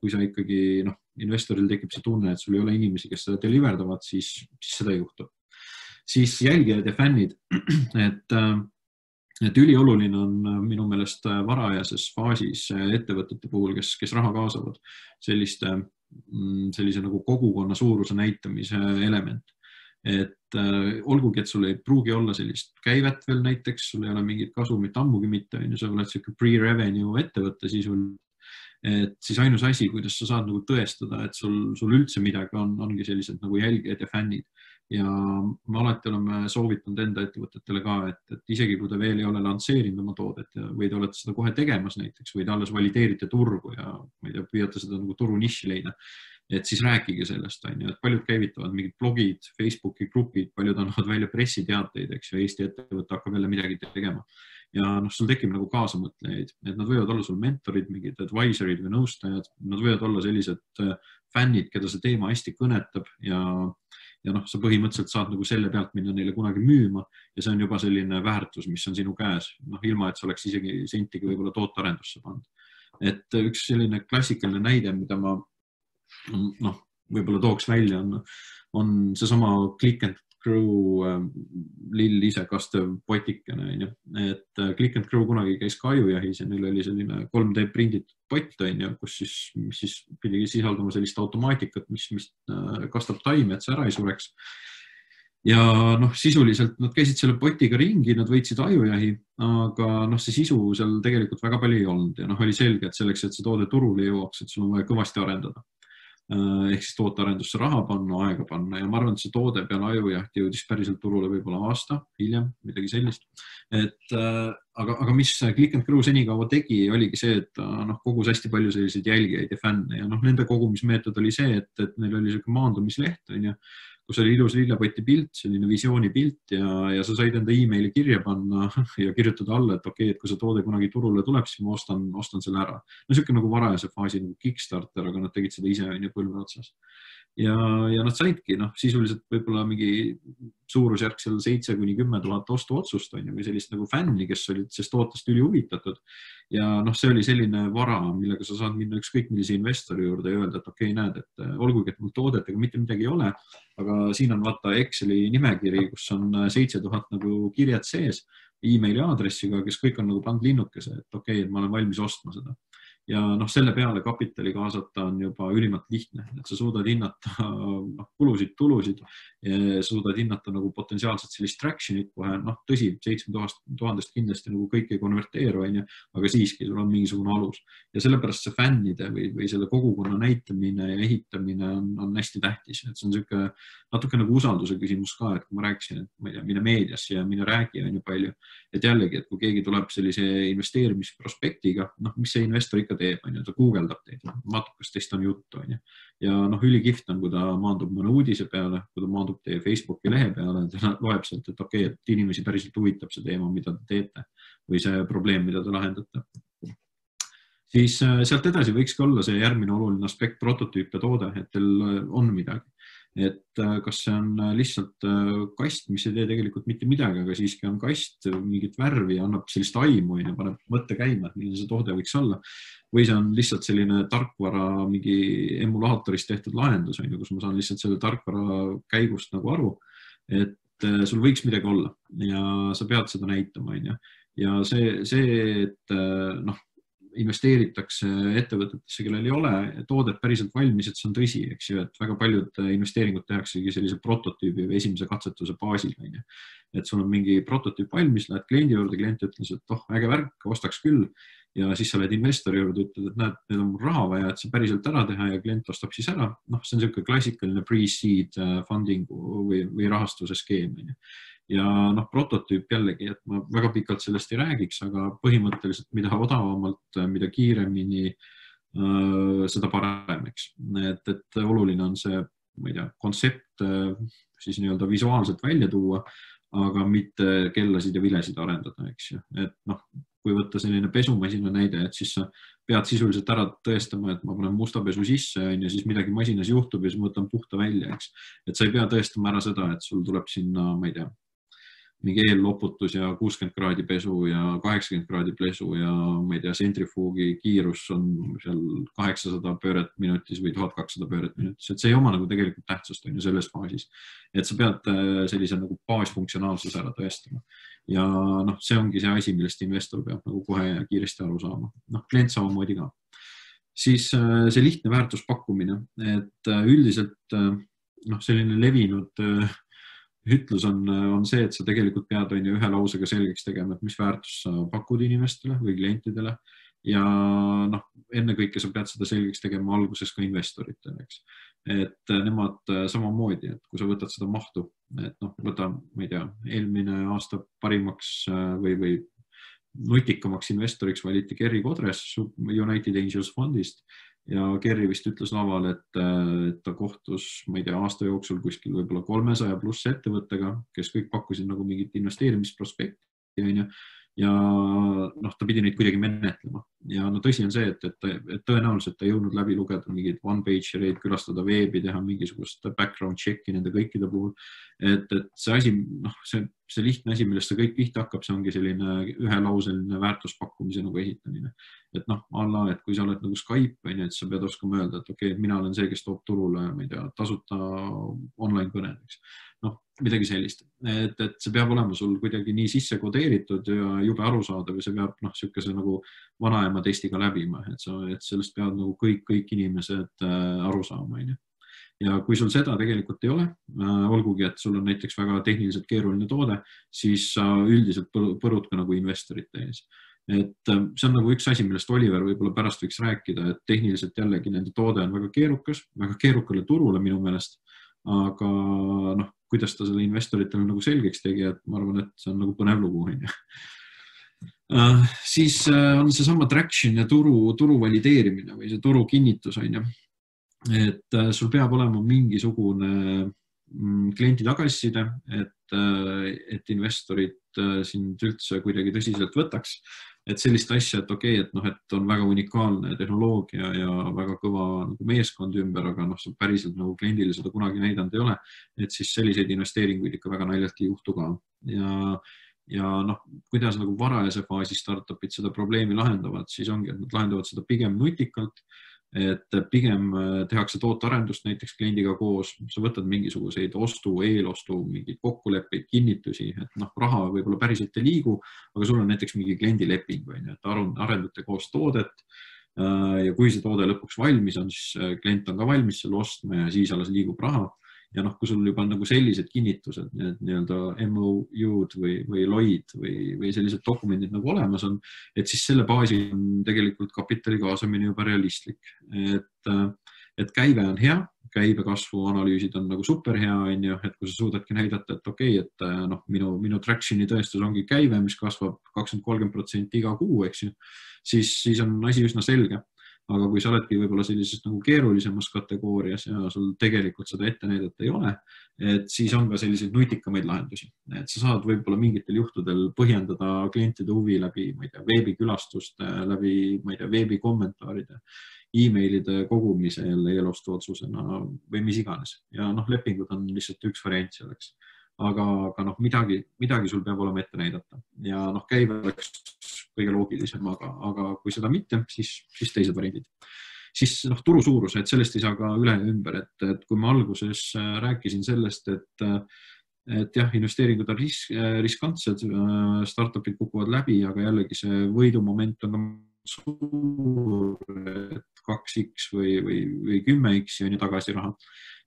kui sa ikkagi noh, investoril tekib see tunne, et sul ei ole inimesi, kes seda deliverdavad, siis, siis seda ei juhtu. Siis jälgijad ja fännid, et Et ülioluline on minu meelest varajases faasis ettevõtete puhul, kes, kes raha kaasavad, selliste, sellise nagu kogukonna suuruse näitamise element. et äh, olgugi, et sul ei pruugi olla sellist käivet veel näiteks, sul ei ole mingit kasumit ammugi mitte, on ju, sa oled siuke pre-revenue ettevõtte sisul, et siis ainus asi, kuidas sa saad nagu tõestada, et sul, sul üldse midagi on, ongi sellised nagu jälgijad ja fännid. Ja me alati oleme soovitanud enda ettevõtetele ka, et, et isegi kui te veel ei ole lansseerinud oma toodet või te olete seda kohe tegemas näiteks või te alles valideerite turgu ja ma ei tea, püüate seda nagu turu niši leida, et siis rääkige sellest, on ju, et paljud käivitavad mingid blogid, Facebooki grupid, paljud annavad välja pressiteateid, eks ju, Eesti ettevõte hakkab jälle midagi tegema. Ja noh, sul tekib nagu kaasamõtlejaid, et nad võivad olla sul mentorid, mingid advisorid või nõustajad, nad võivad olla sellised fännid, keda see teema hästi kõnetab ja ja noh, sa põhimõtteliselt saad nagu selle pealt minna neile kunagi müüma ja see on juba selline väärtus, mis on sinu käes, noh, ilma, et sa oleks isegi sentigi võib-olla tootearendusse pannud. Et üks selline klassikaline näide, mida ma noh, võib-olla tooks välja, on, on see sama Click and Crew lill ise kastev potikene, et Click and Crew kunagi käis ka ajujahis ja neil oli selline kolm D prinditud pott, kus siis, mis siis pidi sisaldama sellist automaatikat, mis, mis kastab taime, et see ära ei sureks. Ja noh, sisuliselt nad käisid selle potiga ringi, nad võitsid ajujahi, aga noh, see sisu seal tegelikult väga palju ei olnud ja noh, oli selge, et selleks, et see toode turule jõuaks, et sul on vaja kõvasti arendada. Ehk siis tootearendusse raha panna, aega panna ja ma arvan, et see toode peale ajujahti jõudis päriselt turule võib-olla aasta hiljem, midagi sellist. Et, aga, aga mis Click and Crew senikaua tegi, oligi see, et noh, kogus hästi palju selliseid jälgijaid ja fänne ja noh, nende kogumismeetod oli see, et, et neil oli selline maandumisleht, on ju, kus oli ilus lillepoti pilt, selline visiooni pilt ja, ja sa said enda e-maili kirja panna ja kirjutada alla, et okei, okay, et kui see toode kunagi turule tuleb, siis ma ostan, ostan selle ära. No selline nagu varajase faasi nagu Kickstarter, aga nad tegid seda ise ja põlve otsas. Ja, ja nad saidki noh, sisuliselt võib-olla mingi suurusjärk seal seitse kuni kümme tuhat ostu otsust on ju, või sellist nagu fänni, kes olid sest tootest üli huvitatud. Ja noh, see oli selline vara, millega sa saad minna ükskõik millise investori juurde ja öelda, et okei, okay, näed, et olgugi, et mul toodetega mitte midagi ei ole, aga siin on vaata Exceli nimekiri, kus on seitse tuhat nagu kirjad sees e-maili aadressiga, kes kõik on nagu pandud linnukese, et okei, okay, et ma olen valmis ostma seda. Ja noh, selle peale kapitali kaasata on juba ülimalt lihtne, et sa suudad hinnata noh, kulusid, tulusid ja sa suudad hinnata nagu potentsiaalselt sellist tractionit kohe, noh tõsi, seitsme tuhandest kindlasti nagu kõik ei konverteeru, aga siiski sul on mingisugune alus. Ja sellepärast see fännide või, või selle kogukonna näitamine ja ehitamine on, on hästi tähtis, et see on siuke natuke nagu usalduse küsimus ka, et kui ma rääkisin, et ma ei tea, mine meediasse ja mine räägi on ju palju, et jällegi, et kui keegi tuleb sellise investeerimisprospektiga, noh, mis see investor ikka teeb, on ju, ta guugeldab teid, matukast teist on juttu, on ju. Ja noh, ülikiht on, kui ta maandub mõne uudise peale, kui ta maandub teie Facebooki lehe peale, ta loeb sealt, et okei, okay, et inimesi päriselt huvitab see teema, mida te teete või see probleem, mida te lahendate. Siis sealt edasi võikski olla see järgmine oluline aspekt, prototüüp ja toode, et teil on midagi. Et kas see on lihtsalt kast, mis ei tee tegelikult mitte midagi, aga siiski on kast, mingit värvi ja annab sellist aimu ja paneb mõtte käima, et milline see toode võiks olla. Või see on lihtsalt selline tarkvara mingi emulaatorist tehtud lahendus, kus ma saan lihtsalt selle tarkvara käigust nagu aru, et sul võiks midagi olla ja sa pead seda näitama. Ja see, see et noh, investeeritakse ettevõtetesse, kellel ei ole toodet päriselt valmis, et see on tõsi, eks ju, et väga paljud investeeringud tehaksegi sellise prototüübi või esimese katsetuse baasil. Et sul on mingi prototüüp valmis, lähed kliendi juurde, klient ütles, et oh, äge värk, ostaks küll. Ja siis sa lähed investori juurde, ütled, et näed, need on raha vaja, et see päriselt ära teha ja klient ostab siis ära. Noh, see on selline klassikaline pre-seed funding või, või rahastuse skeem. Ja noh, prototüüp jällegi, et ma väga pikalt sellest ei räägiks, aga põhimõtteliselt mida odavamalt, mida kiiremini, seda parem, eks. Et, et oluline on see, ma ei tea, kontsept siis nii-öelda visuaalselt välja tuua, aga mitte kellasid ja vilesid arendada, eks ju. Et noh, kui võtta selline pesumasina näide, et siis sa pead sisuliselt ära tõestama, et ma panen musta pesu sisse ja siis midagi masinas juhtub ja siis ma võtan puhta välja, eks. Et sa ei pea tõestama ära seda, et sul tuleb sinna, ma ei tea, mingi eelloputus ja kuuskümmend kraadi pesu ja kaheksakümmend kraadi pesu ja ma ei tea, sentrifuugi kiirus on seal kaheksasada pööret minutis või tuhat kakssada pööret minutis, et see ei oma nagu tegelikult tähtsust on ju selles faasis. Et sa pead sellise nagu baasfunktsionaalsuse ära tõestama. Ja noh, see ongi see asi, millest investor peab nagu kohe ja kiiresti aru saama. Noh, klient samamoodi ka. Siis see lihtne väärtuspakkumine, et üldiselt noh, selline levinud ütlus on, on see, et sa tegelikult pead on ju ühe lausega selgeks tegema, et mis väärtus sa pakud inimestele või klientidele ja noh, ennekõike sa pead seda selgeks tegema alguses ka investoritele, eks. Et nemad samamoodi, et kui sa võtad seda mahtu, et noh, võta, ma ei tea, eelmine aasta parimaks või, või nutikamaks investoriks valiti Kerry Kodres United Angels fondist ja Kerry vist ütles laval, et, et ta kohtus, ma ei tea, aasta jooksul kuskil võib-olla kolmesaja pluss ettevõttega, kes kõik pakkusid nagu mingit investeerimisprospekti, on ju, ja noh, ta pidi neid kuidagi menetlema. Ja no tõsi on see, et, et, et tõenäoliselt ta jõudnud läbi lugeda mingid one-pagereid, külastada veebi, teha mingisugust background checki nende kõikide puhul. Et, et see asi, noh, see, see lihtne asi, millest see kõik pihta hakkab, see ongi selline ühelauseline väärtuspakkumise nagu ehitamine. Et noh, alla, et kui sa oled nagu Skype, on ju, et sa pead oskama öelda, et okei, okay, mina olen see, kes toob turule, ma ei tea, tasuta online kõnedeks. Noh, midagi sellist, et, et see peab olema sul kuidagi nii sisse kodeeritud ja jube arusaadav ja see peab noh, sükese nagu vanaema testiga läbima, et, sa, et sellest peavad nagu kõik, kõik inimesed äh, aru saama. Ja kui sul seda tegelikult ei ole, äh, olgugi, et sul on näiteks väga tehniliselt keeruline toode, siis sa üldiselt põrud ka nagu investorite ees. Et äh, see on nagu üks asi, millest Oliver võib-olla pärast võiks rääkida, et tehniliselt jällegi nende toode on väga keerukas, väga keerukale turule minu meelest, aga noh, kuidas ta selle investoritele nagu selgeks tegi, et ma arvan, et see on nagu põnev lugu. Uh, siis uh, on see sama traction ja turu, turu valideerimine või see turu kinnitus. Et uh, sul peab olema mingisugune mm, kliendi tagasiside, et, uh, et investorid uh, sind üldse kuidagi tõsiselt võtaks. Et sellist asja, et okei, okay, et, noh, et on väga unikaalne tehnoloogia ja väga kõva nagu meeskond ümber, aga noh, päriselt nagu kliendile seda kunagi näidanud ei ole, et siis selliseid investeeringuid ikka väga naljalt ei juhtu ka. Ja, ja noh, kuidas nagu varajase faasi startupid seda probleemi lahendavad, siis ongi, et nad lahendavad seda pigem nutikalt, et pigem tehakse tootearendust näiteks kliendiga koos, sa võtad mingisuguseid ostu, eelostu, mingeid kokkuleppeid, kinnitusi, et noh, raha võib-olla päriselt ei liigu, aga sul on näiteks mingi kliendileping, või, et arendate koos toodet ja kui see toode lõpuks valmis on, siis klient on ka valmis selle ostma ja siis alles liigub raha. Ja noh, kui sul juba nagu sellised kinnitused, need nii-öelda M O U-d või, või L O I-d või, või sellised dokumendid nagu olemas on, et siis selle baasi on tegelikult kapitali kaasamine juba realistlik. Et, et käive on hea, käibe kasvu analüüsid on nagu super hea, on ju, et kui sa suudadki näidata, et okei, okay, et noh, minu, minu tractioni tõestus ongi käive, mis kasvab kakskümmend kolmkümmend protsenti iga kuu, eks ju, siis, siis on asi üsna selge. Aga kui sa oledki võib-olla sellisest nagu keerulisemas kategoorias ja sul tegelikult seda ette näidata ei ole, et siis on ka selliseid nutikamaid lahendusi. Et sa saad võib-olla mingitel juhtudel põhjendada klientide huvi läbi, ma ei tea, veebikülastuste, läbi, ma ei tea, veebikommentaaride, e-mailide kogumise jälle eelostu otsusena või mis iganes. Ja noh, lepingud on lihtsalt üks variant selleks. Aga, aga noh, midagi, midagi sul peab olema ette näidata. Ja noh, käive oleks kõige loogilisem, aga, aga kui seda mitte, siis, siis teised variandid. Siis noh, turu suurus, et sellest ei saa ka üle ümber, et, et kui ma alguses rääkisin sellest, et, et jah, investeeringud on ris, riskantsed, startupid kukuvad läbi, aga jällegi see võidumoment on suur, et kaks X või, või, või kümme X on ju tagasi raha.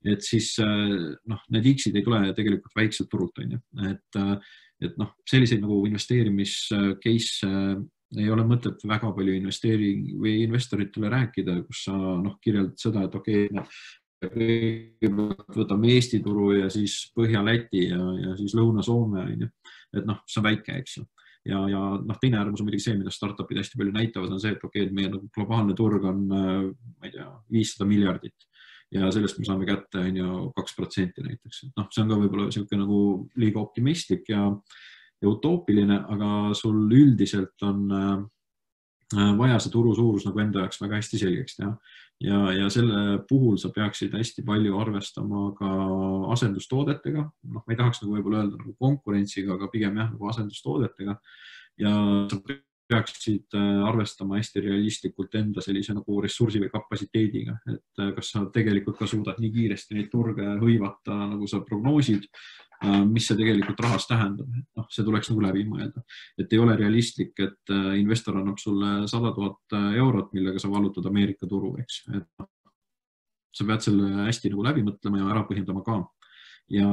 Et siis noh, need X-id ei tule tegelikult väikselt turult, on ju. Et, et noh, selliseid nagu investeerimiscase ei ole mõtet väga palju investeering või investoritele rääkida, kus sa noh, kirjeldad seda, et okei, okay, võtame Eesti turu ja siis Põhja-Läti ja, ja siis Lõuna-Soome, on ju. Et noh, see on väike, eks ju. Ja, ja noh, teine äärmus on muidugi see, mida startupid hästi palju näitavad, on see, et okei, et meie nagu globaalne turg on, ma ei tea, viissada miljardit. Ja sellest me saame kätte on ju kaks protsenti näiteks. No, see on ka võib-olla selline nagu liiga optimistlik ja, ja utoopiline, aga sul üldiselt on vaja see turu suurus nagu enda jaoks väga hästi selgeks teha. Ja, ja selle puhul sa peaksid hästi palju arvestama ka asendustoodetega. Noh, ma ei tahaks nagu võib-olla öelda nagu konkurentsiga, aga pigem jah, nagu asendustoodetega. Ja sa peaksid arvestama hästi realistlikult enda sellise nagu ressursi või kapatsiteediga, et kas sa tegelikult ka suudad nii kiiresti neid turge hõivata, nagu sa prognoosid, mis see tegelikult rahas tähendab. No, see tuleks nagu läbi mõelda, et ei ole realistlik, et investor annab sulle sada tuhat eurot, millega sa vallutad Ameerika turu, eks. Et sa pead selle hästi nagu läbi mõtlema ja ära põhjendama ka. ja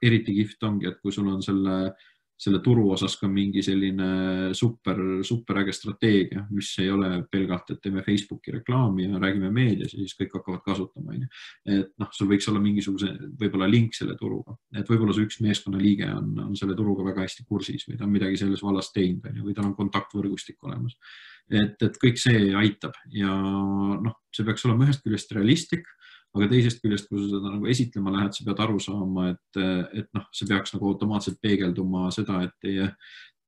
eriti kihvt ongi, et kui sul on selle selle turu osas ka mingi selline super, super äge strateegia, mis ei ole pelgalt, et teeme Facebooki reklaami ja räägime meedias ja siis kõik hakkavad kasutama. Et noh, sul võiks olla mingisuguse võib-olla link selle turuga, et võib-olla see üks meeskonna liige on, on selle turuga väga hästi kursis või ta on midagi selles vallas teinud või tal on kontaktvõrgustik olemas. Et, et kõik see aitab ja noh, see peaks olema ühest küljest realistlik, aga teisest küljest, kui sa seda nagu esitlema lähed, sa pead aru saama, et, et noh, see peaks nagu automaatselt peegelduma seda, et teie,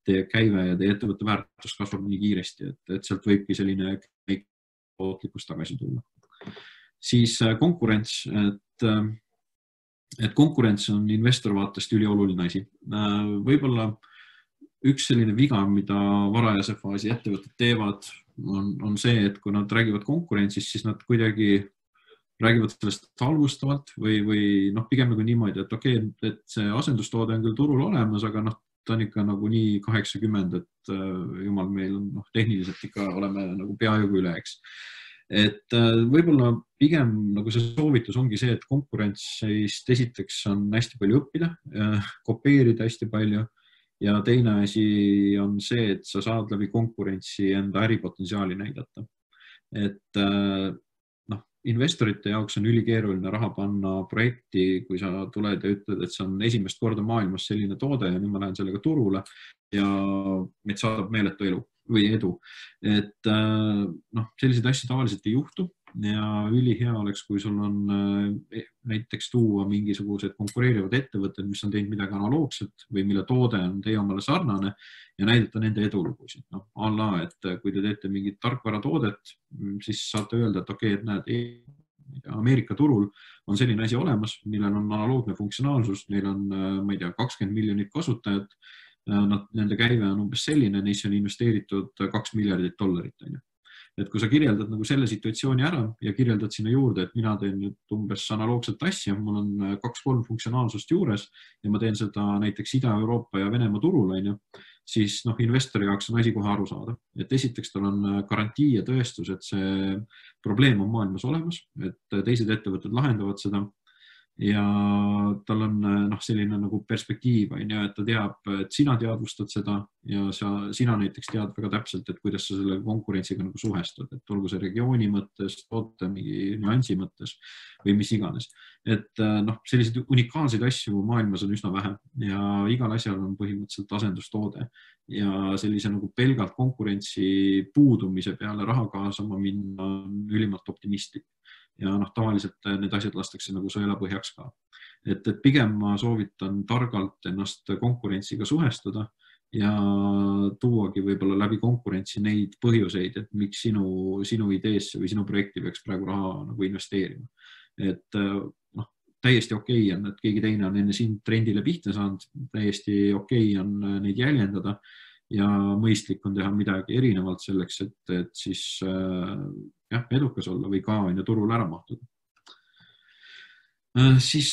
teie käive ja teie ettevõtte väärtus kasvab nii kiiresti, et, et sealt võibki selline tootlikkus tagasi tulla. Siis konkurents, et, et konkurents on investori vaatest ülioluline asi. Võib-olla üks selline viga, mida varajase faasi ettevõtted teevad, on, on see, et kui nad räägivad konkurentsist, siis nad kuidagi räägivad sellest halvustavalt või, või noh, pigem nagu niimoodi, et okei, okay, et see asendustoode on küll turul olemas, aga noh, ta on ikka nagu nii kaheksakümmend, et jumal, meil on noh, tehniliselt ikka oleme nagu peaaegu üle, eks. Et võib-olla pigem nagu see soovitus ongi see, et konkurentsist esiteks on hästi palju õppida, kopeerida hästi palju ja teine asi on see, et sa saad läbi konkurentsi enda äripotentsiaali näidata. Et investorite jaoks on ülikeeruline raha panna projekti, kui sa tuled ja ütled, et see on esimest korda maailmas selline toode ja nüüd ma lähen sellega turule ja meid saadab meeletu elu või edu. Et noh, selliseid asju tavaliselt ei juhtu ja ülihea oleks, kui sul on näiteks tuua mingisugused konkureerivad ettevõtted, mis on teinud midagi analoogset või mille toode on teie omale sarnane ja näidata nende edulugusid. Noh, alla, et kui te teete mingit tarkvaratoodet, siis saate öelda, et okei, et näed, Ameerika turul on selline asi olemas, millel on analoogne funktsionaalsus, neil on, ma ei tea, kakskümmend miljonit kasutajat, nad, nende käive on umbes selline, neisse on investeeritud kaks miljardit dollarit. Et kui sa kirjeldad nagu selle situatsiooni ära ja kirjeldad sinna juurde, et mina teen nüüd umbes analoogset asja, mul on kaks-kolm funktsionaalsust juures ja ma teen seda näiteks Ida-Euroopa ja Venemaa turul, siis noh, investori jaoks on asi kohe aru saada. Et esiteks tal on garantii ja tõestus, et see probleem on maailmas olemas, et teised ettevõtted lahendavad seda ja tal on noh, selline nagu perspektiiv, et ta teab, et sina teadvustad seda ja sa, sina näiteks tead väga täpselt, et kuidas sa selle konkurentsiga nagu suhestud, et olgu see regiooni mõttes, toote mingi nüansi mõttes või mis iganes. Et noh, selliseid unikaalseid asju maailmas on üsna vähe ja igal asjal on põhimõtteliselt asendustoode ja sellise nagu pelgalt konkurentsi puudumise peale raha kaasama minna on ülimalt optimistlik. Ja noh, tavaliselt need asjad lastakse nagu sõelapõhjaks ka. Et, et pigem ma soovitan targalt ennast konkurentsiga suhestuda ja tuuagi võib-olla läbi konkurentsi neid põhjuseid, et miks sinu, sinu ideesse või sinu projekti peaks praegu raha nagu investeerima. Et noh, täiesti okei on, et keegi teine on enne siin trendile pihta saanud, täiesti okei on neid jäljendada ja mõistlik on teha midagi erinevalt selleks, et, et siis jah, edukas olla või ka enne turul ära mahtuda. Siis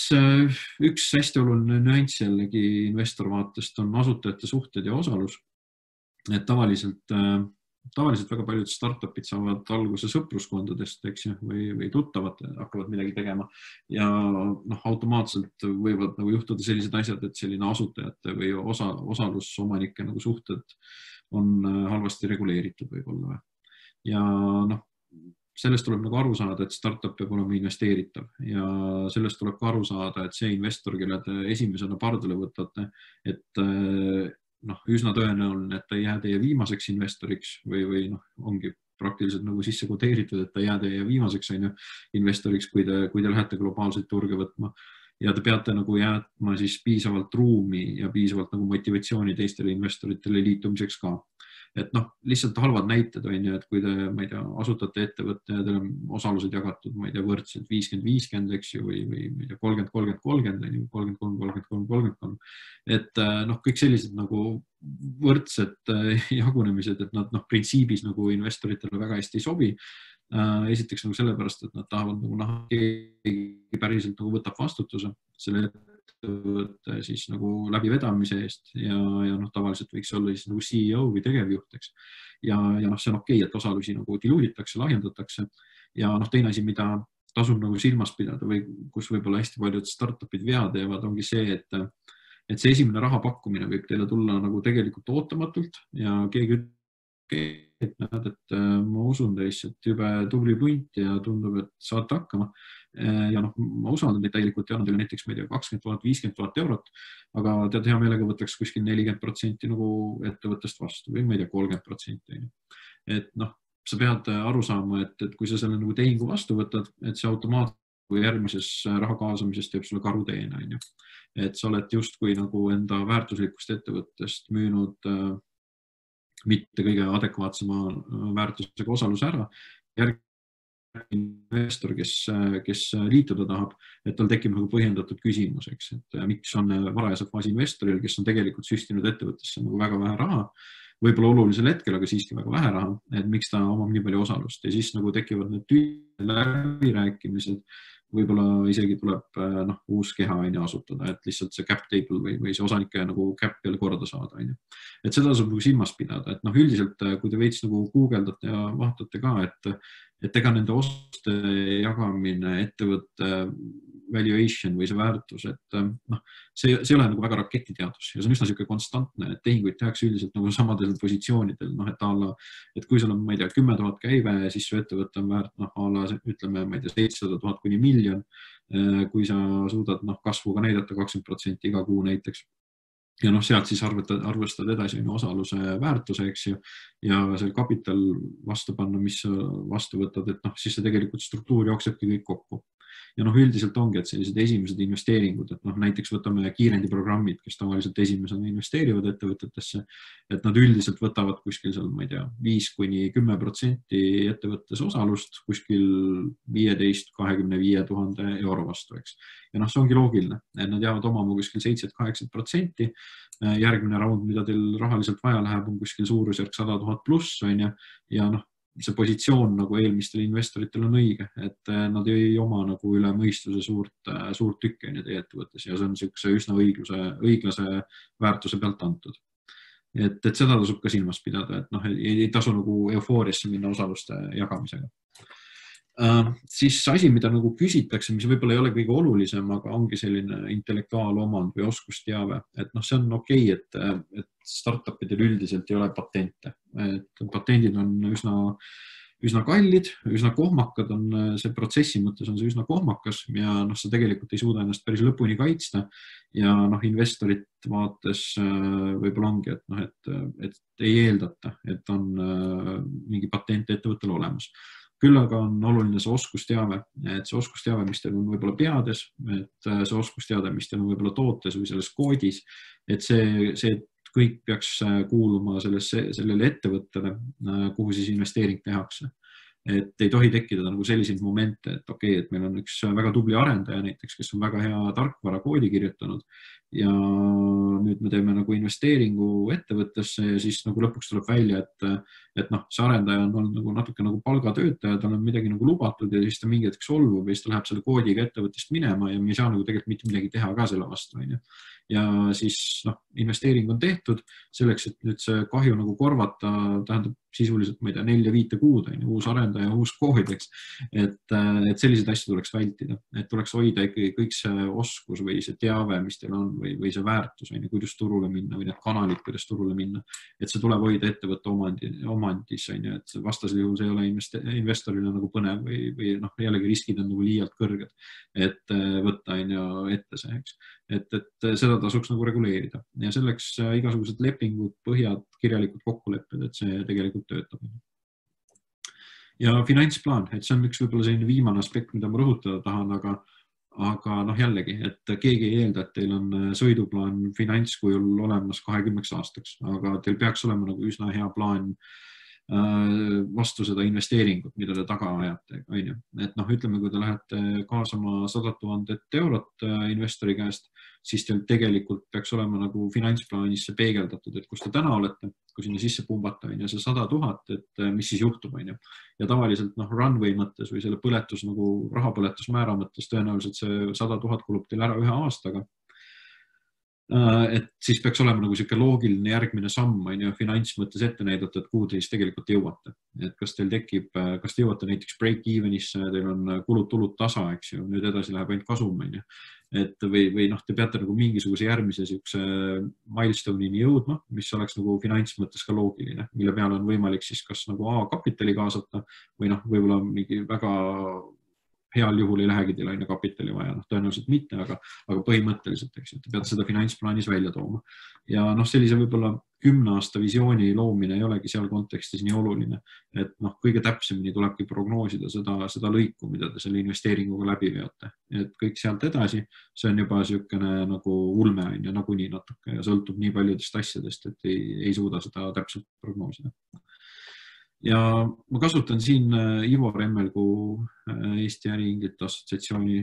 üks hästi oluline nüanss jällegi investor vaatest on asutajate suhted ja osalus. Et tavaliselt, tavaliselt väga paljud startupid saavad alguse sõpruskondadest, eks ju, või, või tuttavad hakkavad midagi tegema ja noh, automaatselt võivad nagu juhtuda sellised asjad, et selline asutajate või osa, osalusomanike nagu suhted on halvasti reguleeritud võib-olla. Ja noh, sellest tuleb nagu aru saada, et startup peab olema investeeritav ja sellest tuleb ka aru saada, et see investor, kelle te esimesena pardale võtate, et noh, üsna tõenäoline, et ta ei jää teie viimaseks investoriks või, või noh, ongi praktiliselt nagu sisse kodeeritud, et ta jää teie viimaseks on ju, investoriks, kui te, kui te lähete globaalseid turge võtma ja te peate nagu jäätma siis piisavalt ruumi ja piisavalt nagu motivatsiooni teistele investoritele liitumiseks ka. Et noh, lihtsalt halvad näited on ju, et kui te, ma ei tea, asutate ettevõtte ja teil on osalused jagatud, ma ei tea, võrdselt viiskümmend viiskümmend, eks ju, või, või ma ei tea, kolmkümmend kolmkümmend kolmkümmend, kolmkümmend kolm kolmkümmend kolm kolmkümmend kolm. Et noh, kõik sellised nagu võrdsed jagunemised, et nad noh, printsiibis nagu investoritele väga hästi ei sobi. Esiteks nagu sellepärast, et nad tahavad nagu näha, keegi päriselt nagu võtab vastutuse selle ettevõtte siis nagu läbi vedamise eest ja, ja noh, tavaliselt võiks olla siis nagu C E O või tegevjuhteks. Ja, ja noh, see on okei, et osalusi nagu diluuditakse, lahjendatakse ja noh, teine asi, mida tasub nagu silmas pidada või kus võib-olla hästi paljud startupid vead teevad, ongi see, et, et see esimene raha pakkumine võib teile tulla nagu tegelikult ootamatult ja keegi ütleb, et näed, et ma usun teisse, et jube tubli punt ja tundub, et saate hakkama. Ja noh, ma usaldan teid täielikult ja annan teile näiteks, ma ei tea, kakskümmend tuhat, viiskümmend tuhat eurot, aga tead hea meelega võtaks kuskil nelikümmend protsenti nagu ettevõttest vastu või ma ei tea, kolmkümmend protsenti. Et noh, sa pead aru saama, et, et kui sa selle nagu tehingu vastu võtad, et see automaatselt kui järgmises raha kaasamisest teeb sulle karuteene, on ju. Et sa oled just kui nagu enda väärtuslikust ettevõttest müünud äh, mitte kõige adekvaatsema väärtusega osaluse ära. Järgmine investor, kes, kes liituda tahab, et tal tekib nagu põhjendatud küsimus, eks, et miks on varajase faasi investoril, kes on tegelikult süstinud ettevõttesse nagu väga vähe raha, võib-olla olulisel hetkel, aga siiski väga vähe raha, et miks ta omab nii palju osalust ja siis nagu tekivad need läbirääkimised, võib-olla isegi tuleb noh, uus keha aine asutada, et lihtsalt see cap table või, või see osanike nagu cap jälle korda saada. Aine. Et seda tasub nagu silmas pidada, et noh, üldiselt, kui te veits nagu guugeldate ja vaatate ka, et, et ega nende oste jagamine, ettevõtte valuation või see väärtus, et noh, see, see ei ole nagu väga raketiteadus ja see on üsna siuke konstantne, et tehinguid tehakse üldiselt nagu samadel positsioonidel, noh, et alla, et kui sul on, ma ei tea, kümme tuhat käive, siis su ettevõte on väärt, noh, alla, ütleme, ma ei tea, seitsesada tuhat kuni miljon, kui sa suudad, noh, kasvuga näidata kakskümmend protsenti iga kuu näiteks. Ja noh, sealt siis arvestad, arvestad edasi osaluse väärtuse, eks ju, ja see kapital vastu panna, mis vastu võtad, et noh, siis see tegelikult struktuur jooksebki kõik kokku. Ja noh, üldiselt ongi, et sellised esimesed investeeringud, et noh, näiteks võtame kiirendiprogrammid, kes tavaliselt esimesena investeerivad ettevõtetesse, et nad üldiselt võtavad kuskil seal, ma ei tea, viis kuni kümme protsenti ettevõttes osalust kuskil viieteist kahekümne viie tuhande euro vastu, eks. Ja noh, see ongi loogiline, et nad jäävad omama kuskil seitse kaheksakümmend protsenti. Järgmine raund, mida teil rahaliselt vaja läheb, on kuskil suurusjärk sada tuhat pluss, on ja, ja noh, see positsioon nagu eelmistel investoritel on õige, et nad ei oma nagu üle mõistuse suurt, suurt tükki teie ettevõttes ja see on siukse üsna õigluse, õiglase väärtuse pealt antud. Et, et seda tasub ka silmas pidada, et noh, ei, ei tasu nagu eufooriasse minna osaluste jagamisega. Uh, siis asi, mida nagu küsitakse, mis võib-olla ei ole kõige olulisem, aga ongi selline intellektuaalomand või oskusteave, et noh, see on okei, et, et startupidel üldiselt ei ole patente, et patendid on üsna, üsna kallid, üsna kohmakad on see protsessi mõttes on see üsna kohmakas ja noh, sa tegelikult ei suuda ennast päris lõpuni kaitsta ja noh, investorit vaates võib-olla ongi, et noh, et, et ei eeldata, et on mingi patent ettevõttel olemas. Küll aga on oluline see oskusteave, et see oskusteave, mis teil on võib-olla peades, et see oskusteave, mis teil on võib-olla tootes või selles koodis, et see, see kõik peaks kuuluma sellesse, sellele ettevõttele, kuhu siis investeering tehakse. Et ei tohi tekkida nagu selliseid momente, et okei, okay, et meil on üks väga tubli arendaja näiteks, kes on väga hea tarkvara koodi kirjutanud ja nüüd me teeme nagu investeeringu ettevõttesse ja siis nagu lõpuks tuleb välja, et, et noh, see arendaja on olnud nagu natuke nagu palgatöötaja, tal on midagi nagu lubatud ja siis ta mingi hetk solvub ja siis ta läheb selle koodiga ettevõttest minema ja me ei saa nagu tegelikult mitte midagi teha ka selle vastu. Ja siis noh, investeering on tehtud selleks, et nüüd see kahju nagu korvata, tähendab sisuliselt, ma ei tea, nelja viite kuud, uus arendaja, uus kood, eks. Et, et selliseid asju tuleks vältida, et tuleks hoida ikkagi kõik see oskus või see teave, mis teil on või, või see väärtus, või kuidas turule minna või need kanalid, kuidas turule minna, et see tuleb hoida ettevõtte omandi, omandis, et vastasel juhul see ei ole investorile nagu põnev või, või noh, jällegi riskid on nagu liialt kõrged, et võtta ette see, eks. Et, et seda tasuks nagu reguleerida ja selleks igasugused lepingud, põhjad, kirjalikud kokkulepped, et see tegelikult töötab. Ja finantsplaan, et see on üks võib-olla selline viimane aspekt, mida ma rõhutada tahan, aga, aga noh jällegi, et keegi ei eelda, et teil on sõiduplaan finantskujul olemas kahekümneks aastaks, aga teil peaks olema nagu üsna hea plaan vastu seda investeeringut, mida te taga ajate. Et noh, ütleme, kui te lähete kaasama sada tuhat eurot investori käest, siis teil tegelikult peaks olema nagu finantsplaanis see peegeldatud, et kus te täna olete, kui sinna sisse pumbata ja see sada tuhat, et mis siis juhtub. Ja tavaliselt noh, runway mõttes või selle põletus nagu rahapõletusmäära mõttes tõenäoliselt see sada tuhat kulub teil ära ühe aastaga. et siis peaks olema nagu siuke loogiline järgmine samm, on ju, finants mõttes ette näidata, et kuhu te siis tegelikult jõuate. Et kas teil tekib, kas te jõuate näiteks break-evenisse, teil on kulud-tulud tasa, eks ju, nüüd edasi läheb ainult kasum, on ju. Et või, või noh, te peate nagu mingisuguse järgmise siukse milestone'ini jõudma, mis oleks nagu finants mõttes ka loogiline, mille peale on võimalik siis kas nagu A kapitali kaasata või noh, võib-olla mingi väga heal juhul ei lähegi teil aina kapitali vaja, noh tõenäoliselt mitte, aga, aga põhimõtteliselt, eks ju, te peate seda finantsplaanis välja tooma. Ja noh, sellise võib-olla kümne aasta visiooni loomine ei olegi seal kontekstis nii oluline, et noh, kõige täpsemini tulebki prognoosida seda, seda lõiku, mida te selle investeeringuga läbi veate. Et kõik sealt edasi, see on juba siukene nagu ulme on ja nagunii natuke ja sõltub nii paljudest asjadest, et ei, ei suuda seda täpselt prognoosida. Ja ma kasutan siin Ivo Remmelgu Eesti Äriinglite Assotsiatsiooni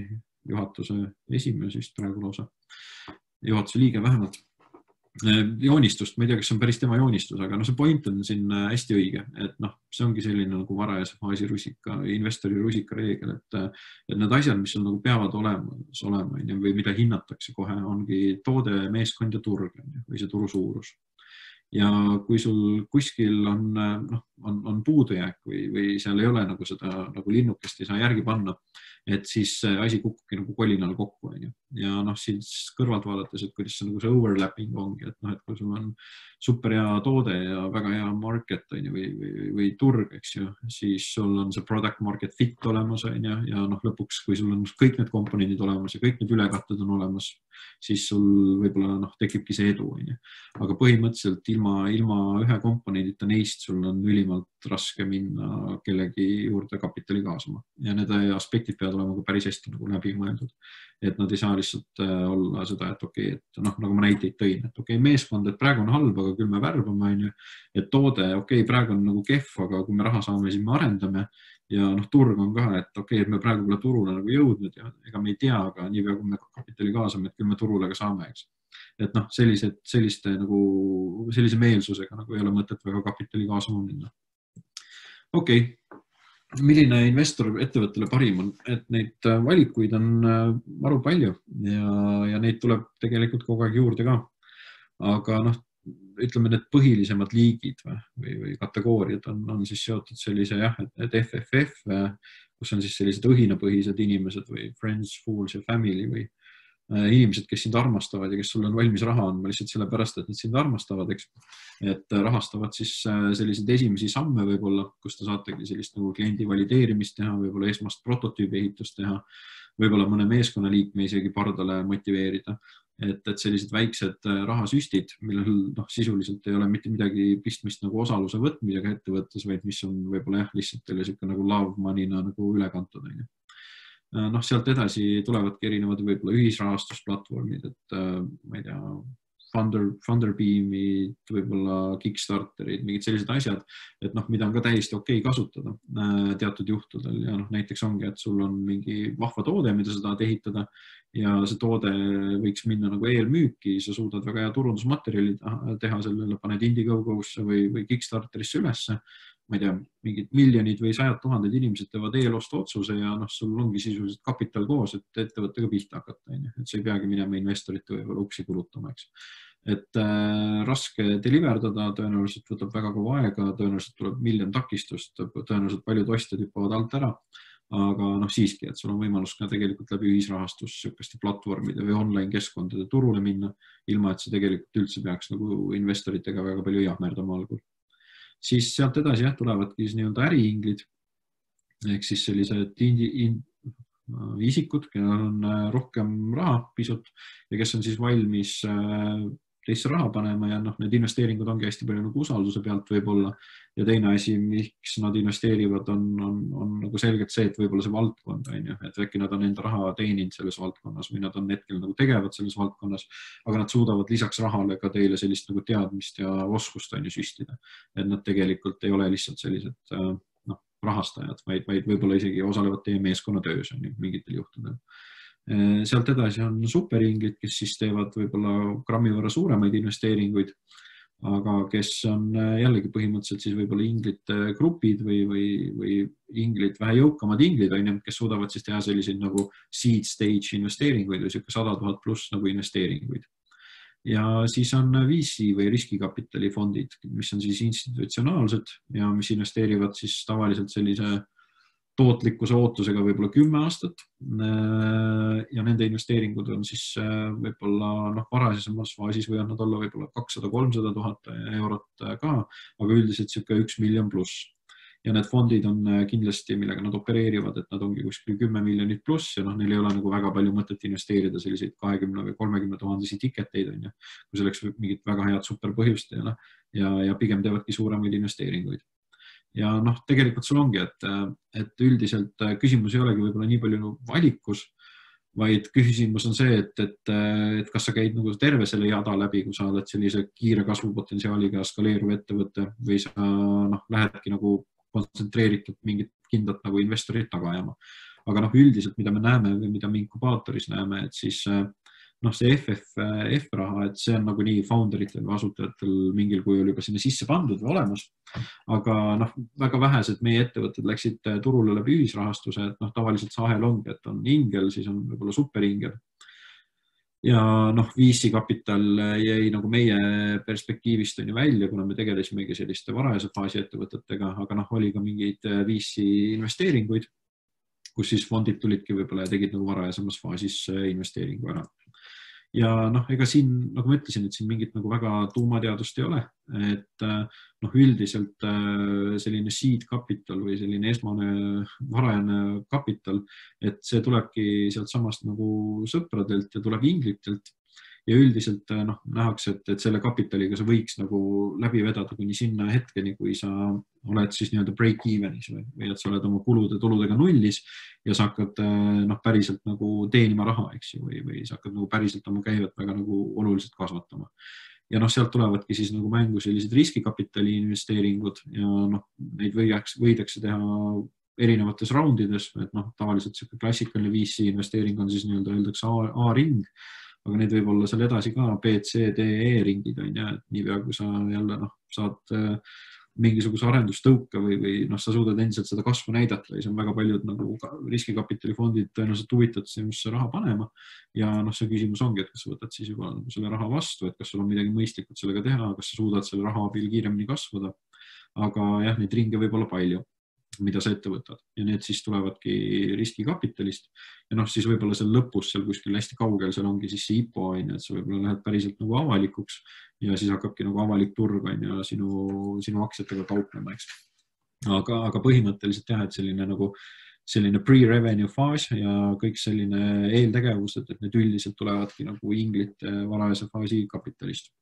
juhatuse esimees vist praegu lausa, juhatuse liige vähemalt, joonistust, ma ei tea, kas see on päris tema joonistus, aga no see point on siin hästi õige, et noh, see ongi selline nagu varajase faasi rusika, investori rusika reegel, et, et need asjad, mis on nagu peavad olema, olema või mida hinnatakse kohe, ongi toode, meeskond ja turg või see turu suurus. Ja kui sul kuskil on, noh, on, on puudujääk või, või seal ei ole nagu seda nagu linnukest ei saa järgi panna, et siis asi kukubki nagu kolinal kokku. On ju. Ja noh, siis kõrvalt vaadates, et kuidas see, nagu see overlapping ongi, et noh, et kui sul on super hea toode ja väga hea market on ju, või, või, või turg, eks ju, siis sul on see product market fit olemas on ju, ja noh, lõpuks, kui sul on kõik need komponendid olemas ja kõik need ülekatted on olemas, siis sul võib-olla noh, tekibki see edu. On ju. Aga põhimõtteliselt ilma, ilma ühe komponendita neist sul on ülimalt raske minna kellegi juurde kapitali kaasama. Ja need aspektid peavad olema ka päris hästi nagu läbi mõeldud. Et nad ei saa lihtsalt olla seda, et okei, et noh, nagu ma näiteid tõin, et okei, meeskond, et praegu on halb, aga küll me värbame, on ju, et toode, okei, praegu on nagu kehv, aga kui me raha saame, siis me arendame ja noh, turg on ka, et okei, et me praegu pole turule nagu jõudnud ja ega me ei tea, aga nii pea, kui me kapitali kaasame, et küll me turule ka saame, eks. Et noh, sellised, selliste nagu, sellise meelsusega nagu ei ole mõtet väga kapitali kaasama minna. Okei, milline investor ettevõttele parim on, et neid valikuid on maru palju ja, ja neid tuleb tegelikult kogu aeg juurde ka. Aga noh, ütleme, need põhilisemad liigid või, või kategooriad on, on siis seotud sellise jah, et F F F, kus on siis sellised õhinapõhised inimesed või friends, fools ja family või inimesed, kes sind armastavad ja kes sul on valmis raha andma lihtsalt sellepärast, et nad sind armastavad, eks. Et rahastavad siis selliseid esimesi samme võib-olla, kus te saategi sellist nagu kliendi valideerimist teha, võib-olla esmast prototüübi ehitust teha, võib-olla mõne meeskonnaliikme isegi pardale motiveerida. Et, et sellised väiksed rahasüstid, millel noh, sisuliselt ei ole mitte midagi pistmist nagu osaluse võtmisega ettevõttes, vaid mis on võib-olla jah, lihtsalt teile siuke nagu love money'na nagu üle kantud. Noh, sealt edasi tulevadki erinevad võib-olla ühisrahastusplatvormid, et ma ei tea, Funder, Funderbeamid, võib-olla Kickstarterid, mingid sellised asjad, et noh, mida on ka täiesti okei kasutada teatud juhtudel ja noh, näiteks ongi, et sul on mingi vahva toode, mida sa tahad ehitada ja see toode võiks minna nagu eelmüüki, sa suudad väga hea turundusmaterjali teha sellele, paned Indiegogo'sse või, või Kickstarterisse ülesse, ma ei tea, mingid miljonid või sajad tuhanded inimesed teevad eelostu otsuse ja noh, sul ongi sisuliselt kapital koos, et ettevõttega pihta hakata, et sa ei peagi minema investorite võib-olla uksi kulutama, eks. Et äh, raske deliverdada, tõenäoliselt võtab väga kaua aega, tõenäoliselt tuleb miljon takistust, tõenäoliselt paljud ostjad hüppavad alt ära, aga noh siiski, et sul on võimalus ka tegelikult läbi ühisrahastus sükeste platvormide või online keskkondade turule minna, ilma et see tegelikult üldse peaks nagu investoritega väga palju jahmerdama algul. Siis sealt edasi jah, tulevadki siis nii-öelda äriinglid, ehk siis sellised indi, in, isikud, kellel on rohkem raha pisut ja kes on siis valmis teisse raha panema ja noh, need investeeringud ongi hästi palju nagu usalduse pealt võib-olla ja teine asi, miks nad investeerivad, on, on, on nagu selgelt see, et võib-olla see valdkond on ju, et äkki nad on enda raha teeninud selles valdkonnas või nad on hetkel nagu tegevad selles valdkonnas, aga nad suudavad lisaks rahale ka teile sellist nagu teadmist ja oskust on ju süstida, et nad tegelikult ei ole lihtsalt sellised noh, rahastajad, vaid, vaid võib-olla isegi osalevad teie meeskonna töös on ju mingitel juhtudel. Sealt edasi on superinglid, kes siis teevad võib-olla grammi võrra suuremaid investeeringuid, aga kes on jällegi põhimõtteliselt siis võib-olla inglite grupid või, või, või inglid, vähe jõukamad inglid, kes suudavad siis teha selliseid nagu seed stage investeeringuid või siuke sada tuhat pluss nagu investeeringuid. ja siis on V C või riskikapitali fondid, mis on siis institutsionaalsed ja mis investeerivad siis tavaliselt sellise tootlikkuse ootusega võib-olla kümme aastat ja nende investeeringud on siis võib-olla noh, varasemas faasis võivad nad olla võib-olla kakssada kolmsada tuhat eurot ka, aga üldiselt siuke üks miljon pluss. Ja need fondid on kindlasti, millega nad opereerivad, et nad ongi kuskil kümme miljonit pluss ja noh, neil ei ole nagu väga palju mõtet investeerida selliseid kahekümne või kolmekümne tuhandesi tiketeid, on ju, kui selleks mingit väga head superpõhjust ei ole ja, ja pigem teevadki suuremaid investeeringuid. Ja noh, tegelikult sul ongi, et, et üldiselt küsimus ei olegi võib-olla nii palju valikus, vaid küsimus on see, et, et, et kas sa käid nagu terve selle jada läbi, kui sa oled sellise kiire kasvupotentsiaaliga skaleeruv ettevõte või sa noh, lähedki nagu kontsentreeritud mingit kindlat nagu investorit taga ajama. Aga noh, üldiselt, mida me näeme või mida me inkubaatoris näeme, et siis noh, see F F F raha, et see on nagu nii founderitel või asutajatel mingil kujul juba sinna sisse pandud või olemas. Aga noh, väga vähesed meie ettevõtted läksid turule läbi ühisrahastuse, et noh, tavaliselt see ahel ongi, et on ingel, siis on võib-olla superingel. Ja noh, V C kapital jäi nagu meie perspektiivist on ju välja, kuna me tegelesimegi selliste varajase faasi ettevõtetega, aga noh, oli ka mingeid V C investeeringuid, kus siis fondid tulidki võib-olla ja tegid nagu varajasemas faasis investeeringu ära. Ja noh, ega siin, nagu ma ütlesin, et siin mingit nagu väga tuumateadust ei ole, et noh, üldiselt selline seed kapital või selline esmane varajane kapital, et see tulebki sealt samast nagu sõpradelt ja tuleb inglitelt ja üldiselt noh, nähakse, et, et selle kapitaliga sa võiks nagu läbi vedada kuni sinna hetkeni, kui sa oled siis nii-öelda break evenis või, või et sa oled oma kulude tuludega nullis ja sa hakkad noh, päriselt nagu teenima raha, eks ju, või, või sa hakkad nagu päriselt oma käivet väga nagu oluliselt kasvatama. Ja noh, sealt tulevadki siis nagu mängu sellised riskikapitali investeeringud ja noh, neid võidaks, võidakse teha erinevates raundides, et noh, tavaliselt see klassikaline V C investeering on siis nii-öelda öeldakse A-ring, aga need võib olla seal edasi ka B, C, D, E ringid on ja, et niipea, kui sa jälle noh, saad mingisuguse arendustõuke või, või noh, sa suudad endiselt seda kasvu näidata ja see on väga paljud nagu riskikapitalifondid tõenäoliselt huvitatud sinusse raha panema ja noh, see küsimus ongi, et kas sa võtad siis juba nagu selle raha vastu, et kas sul on midagi mõistlikult sellega teha, kas sa suudad selle raha abil kiiremini kasvada, aga jah, neid ringe võib olla palju, mida sa ette võtad ja need siis tulevadki riskikapitalist ja noh, siis võib-olla seal lõpus seal kuskil hästi kaugel seal ongi siis see I P O on ja et sa võib-olla lähed päriselt nagu avalikuks ja siis hakkabki nagu avalik turg on ja sinu, sinu aktsiatega kauplema, eks. Aga, aga põhimõtteliselt jah, et selline nagu selline pre-revenue faas ja kõik selline eeltegevused, et need üldiselt tulevadki nagu inglite varajase faasi kapitalist.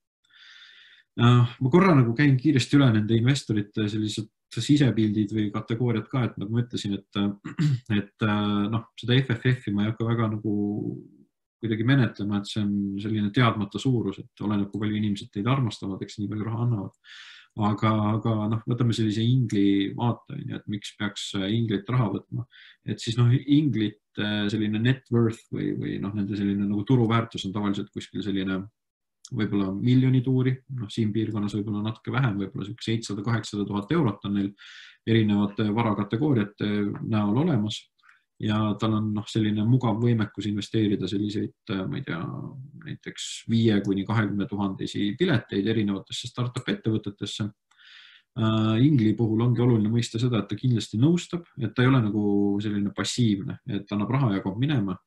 Ma korra nagu käin kiiresti üle nende investorite sellised sisepildid või kategooriad ka, et nagu ma ütlesin, et, et noh, seda F F F-i ma ei hakka väga nagu kuidagi menetlema, et see on selline teadmata suurus, et oleneb, kui palju inimesed teid armastavad, eks nii palju raha annavad. Aga, aga noh, võtame sellise ingli vaate, et miks peaks inglit raha võtma. Et siis noh, inglit selline net worth või, või noh, nende selline nagu turuväärtus on tavaliselt kuskil selline võib-olla miljoni tuuri, noh siin piirkonnas võib-olla natuke vähem, võib-olla seitsesada kaheksasada tuhat eurot on neil erinevate varakategooriate näol olemas ja tal on noh, selline mugav võimekus investeerida selliseid, ma ei tea, näiteks viie kuni kahekümne tuhandesi pileteid erinevatesse startup ettevõtetesse. Ingli puhul ongi oluline mõista seda, et ta kindlasti nõustab, et ta ei ole nagu selline passiivne, et ta annab raha ja kaob minema.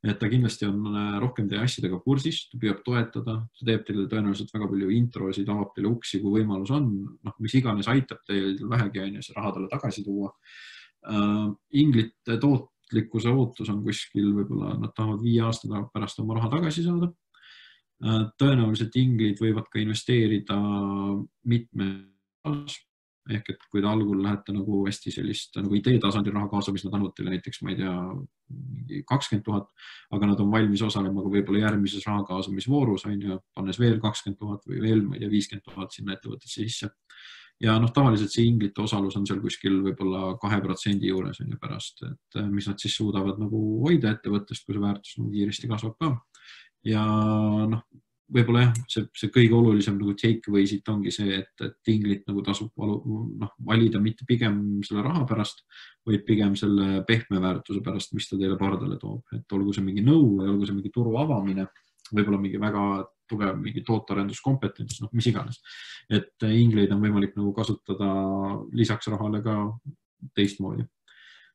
Et ta kindlasti on rohkem teie asjadega kursis, ta püüab toetada, ta teeb teile tõenäoliselt väga palju introsid, avab teile uksi, kui võimalus on, noh, mis iganes aitab teil vähegi on ja see raha talle tagasi tuua. Inglite tootlikkuse ootus on kuskil, võib-olla nad tahavad viie aasta pärast oma raha tagasi saada. Tõenäoliselt inglid võivad ka investeerida mitme ehk et kui te algul lähete nagu hästi sellist nagu idee tasandil raha kaasa, mis nad annavad teile näiteks, ma ei tea, kakskümmend tuhat, aga nad on valmis osalema ka võib-olla järgmises raha kaasamisvoorus, on ju, pannes veel kakskümmend tuhat või veel, ma ei tea, viiskümmend tuhat sinna ettevõttesse sisse. Ja noh, tavaliselt see inglite osalus on seal kuskil võib-olla kahe protsendi juures on ju pärast, et mis nad siis suudavad nagu hoida ettevõttest, kui see väärtus nagu kiiresti kasvab ka. Ja noh, võib-olla jah, see, see kõige olulisem nagu takeaway siit ongi see, et, et inglit nagu tasub valu, noh, valida mitte pigem selle raha pärast, vaid pigem selle pehme väärtuse pärast, mis ta teile pardale toob. Et olgu see mingi nõu või olgu see mingi turu avamine, võib-olla mingi väga tugev mingi tootearenduskompetents, noh, mis iganes. Et ingleid on võimalik nagu kasutada lisaks rahale ka teistmoodi.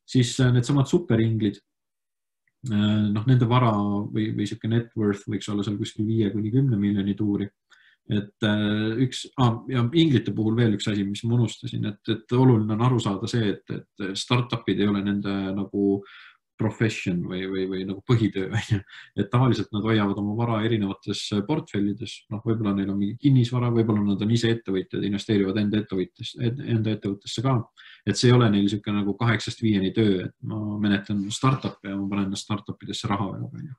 Siis need samad superinglid, noh, nende vara või, või siuke net worth võiks olla seal kuskil viie kuni kümne miljoni tuuri. Et üks, ah, ja inglite puhul veel üks asi, mis ma unustasin, et, et oluline on aru saada see, et, et startupid ei ole nende nagu profession või, või, või nagu põhitöö. Et tavaliselt nad hoiavad oma vara erinevates portfellides, noh, võib-olla neil on mingi kinnisvara, võib-olla nad on ise ettevõtjad, investeerivad enda ettevõttesse, enda ettevõttesse ka. Et see ei ole neil siuke nagu kaheksast viieni töö, et ma menetlen startup'i ja ma panen startupidesse raha väga palju.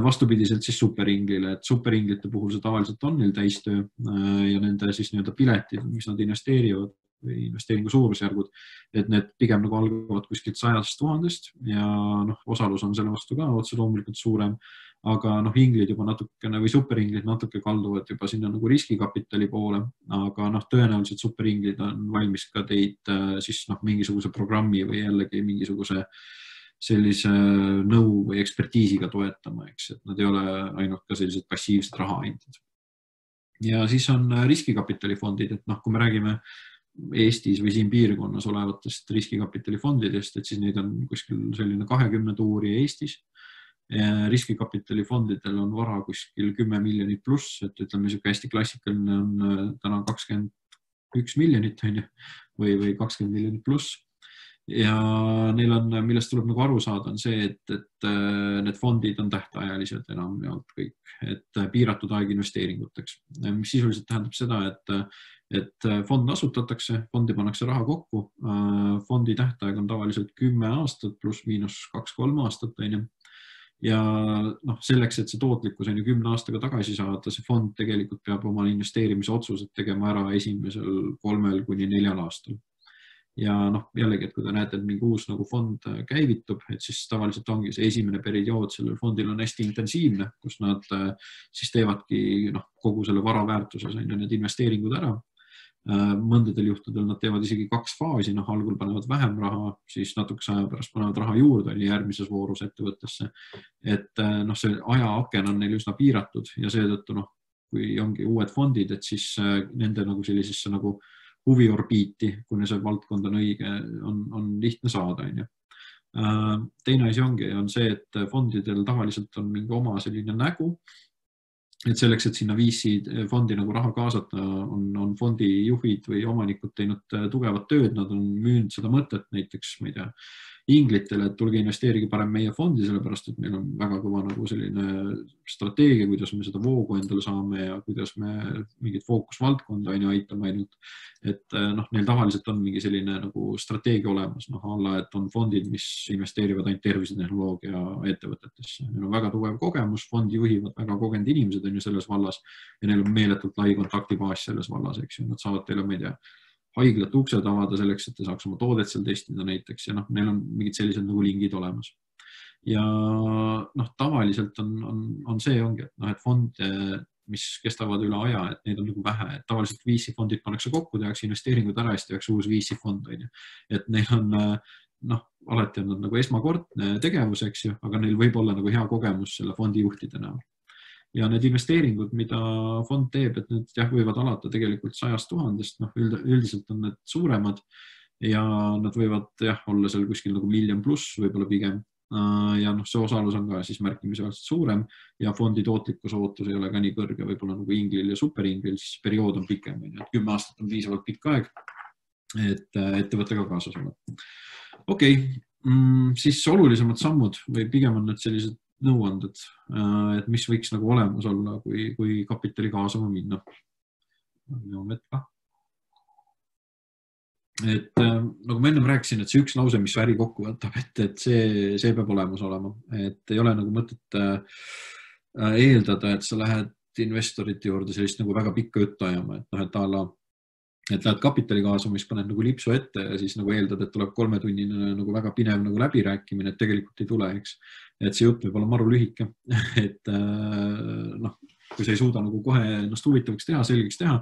Vastupidiselt siis superinglile, et superinglite puhul see tavaliselt on neil täistöö ja nende siis nii-öelda piletid, mis nad investeerivad või investeeringu suurusjärgud, et need pigem nagu algavad kuskilt sajast tuhandest ja noh, osalus on selle vastu ka otse loomulikult suurem, aga noh, inglid juba natukene või superinglid natuke kalduvad juba sinna nagu riskikapitali poole, aga noh, tõenäoliselt superinglid on valmis ka teid siis noh, mingisuguse programmi või jällegi mingisuguse sellise nõu või ekspertiisiga toetama, eks, et nad ei ole ainult ka sellised passiivsed rahaandjad. Ja siis on riskikapitalifondid, et noh, kui me räägime Eestis või siin piirkonnas olevatest riskikapitalifondidest, et siis neid on kuskil selline kahekümne tuuri Eestis. Riskikapitalifondidel on vara kuskil kümme miljonit pluss, et ütleme, siuke hästi klassikaline on täna kakskümmend üks miljonit või, või kakskümmend miljonit pluss. Ja neil on, millest tuleb nagu aru saada, on see, et, et need fondid on tähtajalised enam jaolt kõik, et piiratud aeg investeeringuteks, mis sisuliselt tähendab seda, et, et fond asutatakse, fondi pannakse raha kokku, fondi tähtaeg on tavaliselt kümme aastat pluss miinus kaks-kolm aastat, ja noh, selleks, et see tootlikkus on ju kümne aastaga tagasi saada, see fond tegelikult peab oma investeerimise otsused tegema ära esimesel kolmel kuni neljal aastal. Ja noh, jällegi, et kui te näete, et mingi uus nagu fond käivitub, et siis tavaliselt ongi see esimene periood sellel fondil on hästi intensiivne, kus nad siis teevadki noh, kogu selle vara väärtuses on ju need investeeringud ära. Mõndadel juhtudel nad teevad isegi kaks faasi, noh, algul panevad vähem raha, siis natukese aja pärast panevad raha juurde järgmises voorus ettevõttesse. Et noh, see ajaaken on neil üsna piiratud ja seetõttu noh, kui ongi uued fondid, et siis nende nagu sellisesse nagu huviorbiiti, kuni see valdkond on õige, on, on lihtne saada. Teine asi ongi, on see, et fondidel tavaliselt on mingi oma selline nägu, et selleks, et sinna viisi fondi nagu raha kaasata, on, on fondi juhid või omanikud teinud tugevat tööd, nad on müünud seda mõtet näiteks, ma ei tea, inglitele, et tulge investeerige parem meie fondi, sellepärast, et meil on väga kõva nagu selline strateegia, kuidas me seda voogu endale saame ja kuidas me mingit fookusvaldkonda aina aitame ainult. Et noh, neil tavaliselt on mingi selline nagu strateegia olemas, noh, alla, et on fondid, mis investeerivad ainult tervisetehnoloogia ettevõtetesse. Neil on väga tugev kogemus, fondi juhivad väga kogenud inimesed on ju selles vallas ja neil on meeletult lai kontaktibaas selles vallas, eks ju. Nad saavad teile, ma ei tea, haiglat uksed avada selleks, et te saaks oma toodet seal testida näiteks ja noh, neil on mingid sellised nagu lingid olemas. Ja noh, tavaliselt on, on, on see ongi, et noh, et fond, mis kestavad üle aja, et neid on nagu vähe, et tavaliselt V C fondid pannakse kokku, tehakse investeeringud ära ja siis tehakse uus V C fond, et neil on noh, alati on nad nagu esmakordne tegevus, eks ju, aga neil võib olla nagu hea kogemus selle fondi juhtide näol. Ja need investeeringud, mida fond teeb, et need jah, võivad alata tegelikult sajast tuhandest, noh, üldiselt on need suuremad ja nad võivad jah, olla seal kuskil nagu miljon pluss võib-olla pigem. Ja noh, see osalus on ka siis märkimisväärselt suurem ja fondi tootlikkus ootus ei ole ka nii kõrge, võib-olla nagu inglil ja superinglil, siis periood on pikem, kümme aastat on piisavalt pikk aeg, et ettevõttega kaasas olla. Okei, siis olulisemad sammud või pigem on need sellised nõuanded, et mis võiks nagu olemas olla, kui, kui kapitali kaasama minna. Et nagu ma ennem rääkisin, et see üks lause, mis äri kokku võtab, et, et see, see peab olemas olema, et ei ole nagu mõtet eeldada, et sa lähed investorite juurde sellist nagu väga pikka juttu ajama, et noh, et ala et lähed kapitali kaasama, mis paned nagu lipsu ette ja siis nagu eeldad, et tuleb kolmetunnine nagu väga pinev nagu läbirääkimine, et tegelikult ei tule, eks. Et see jutt võib olla maru lühike, et noh, kui sa ei suuda nagu kohe ennast huvitavaks teha, selgeks teha,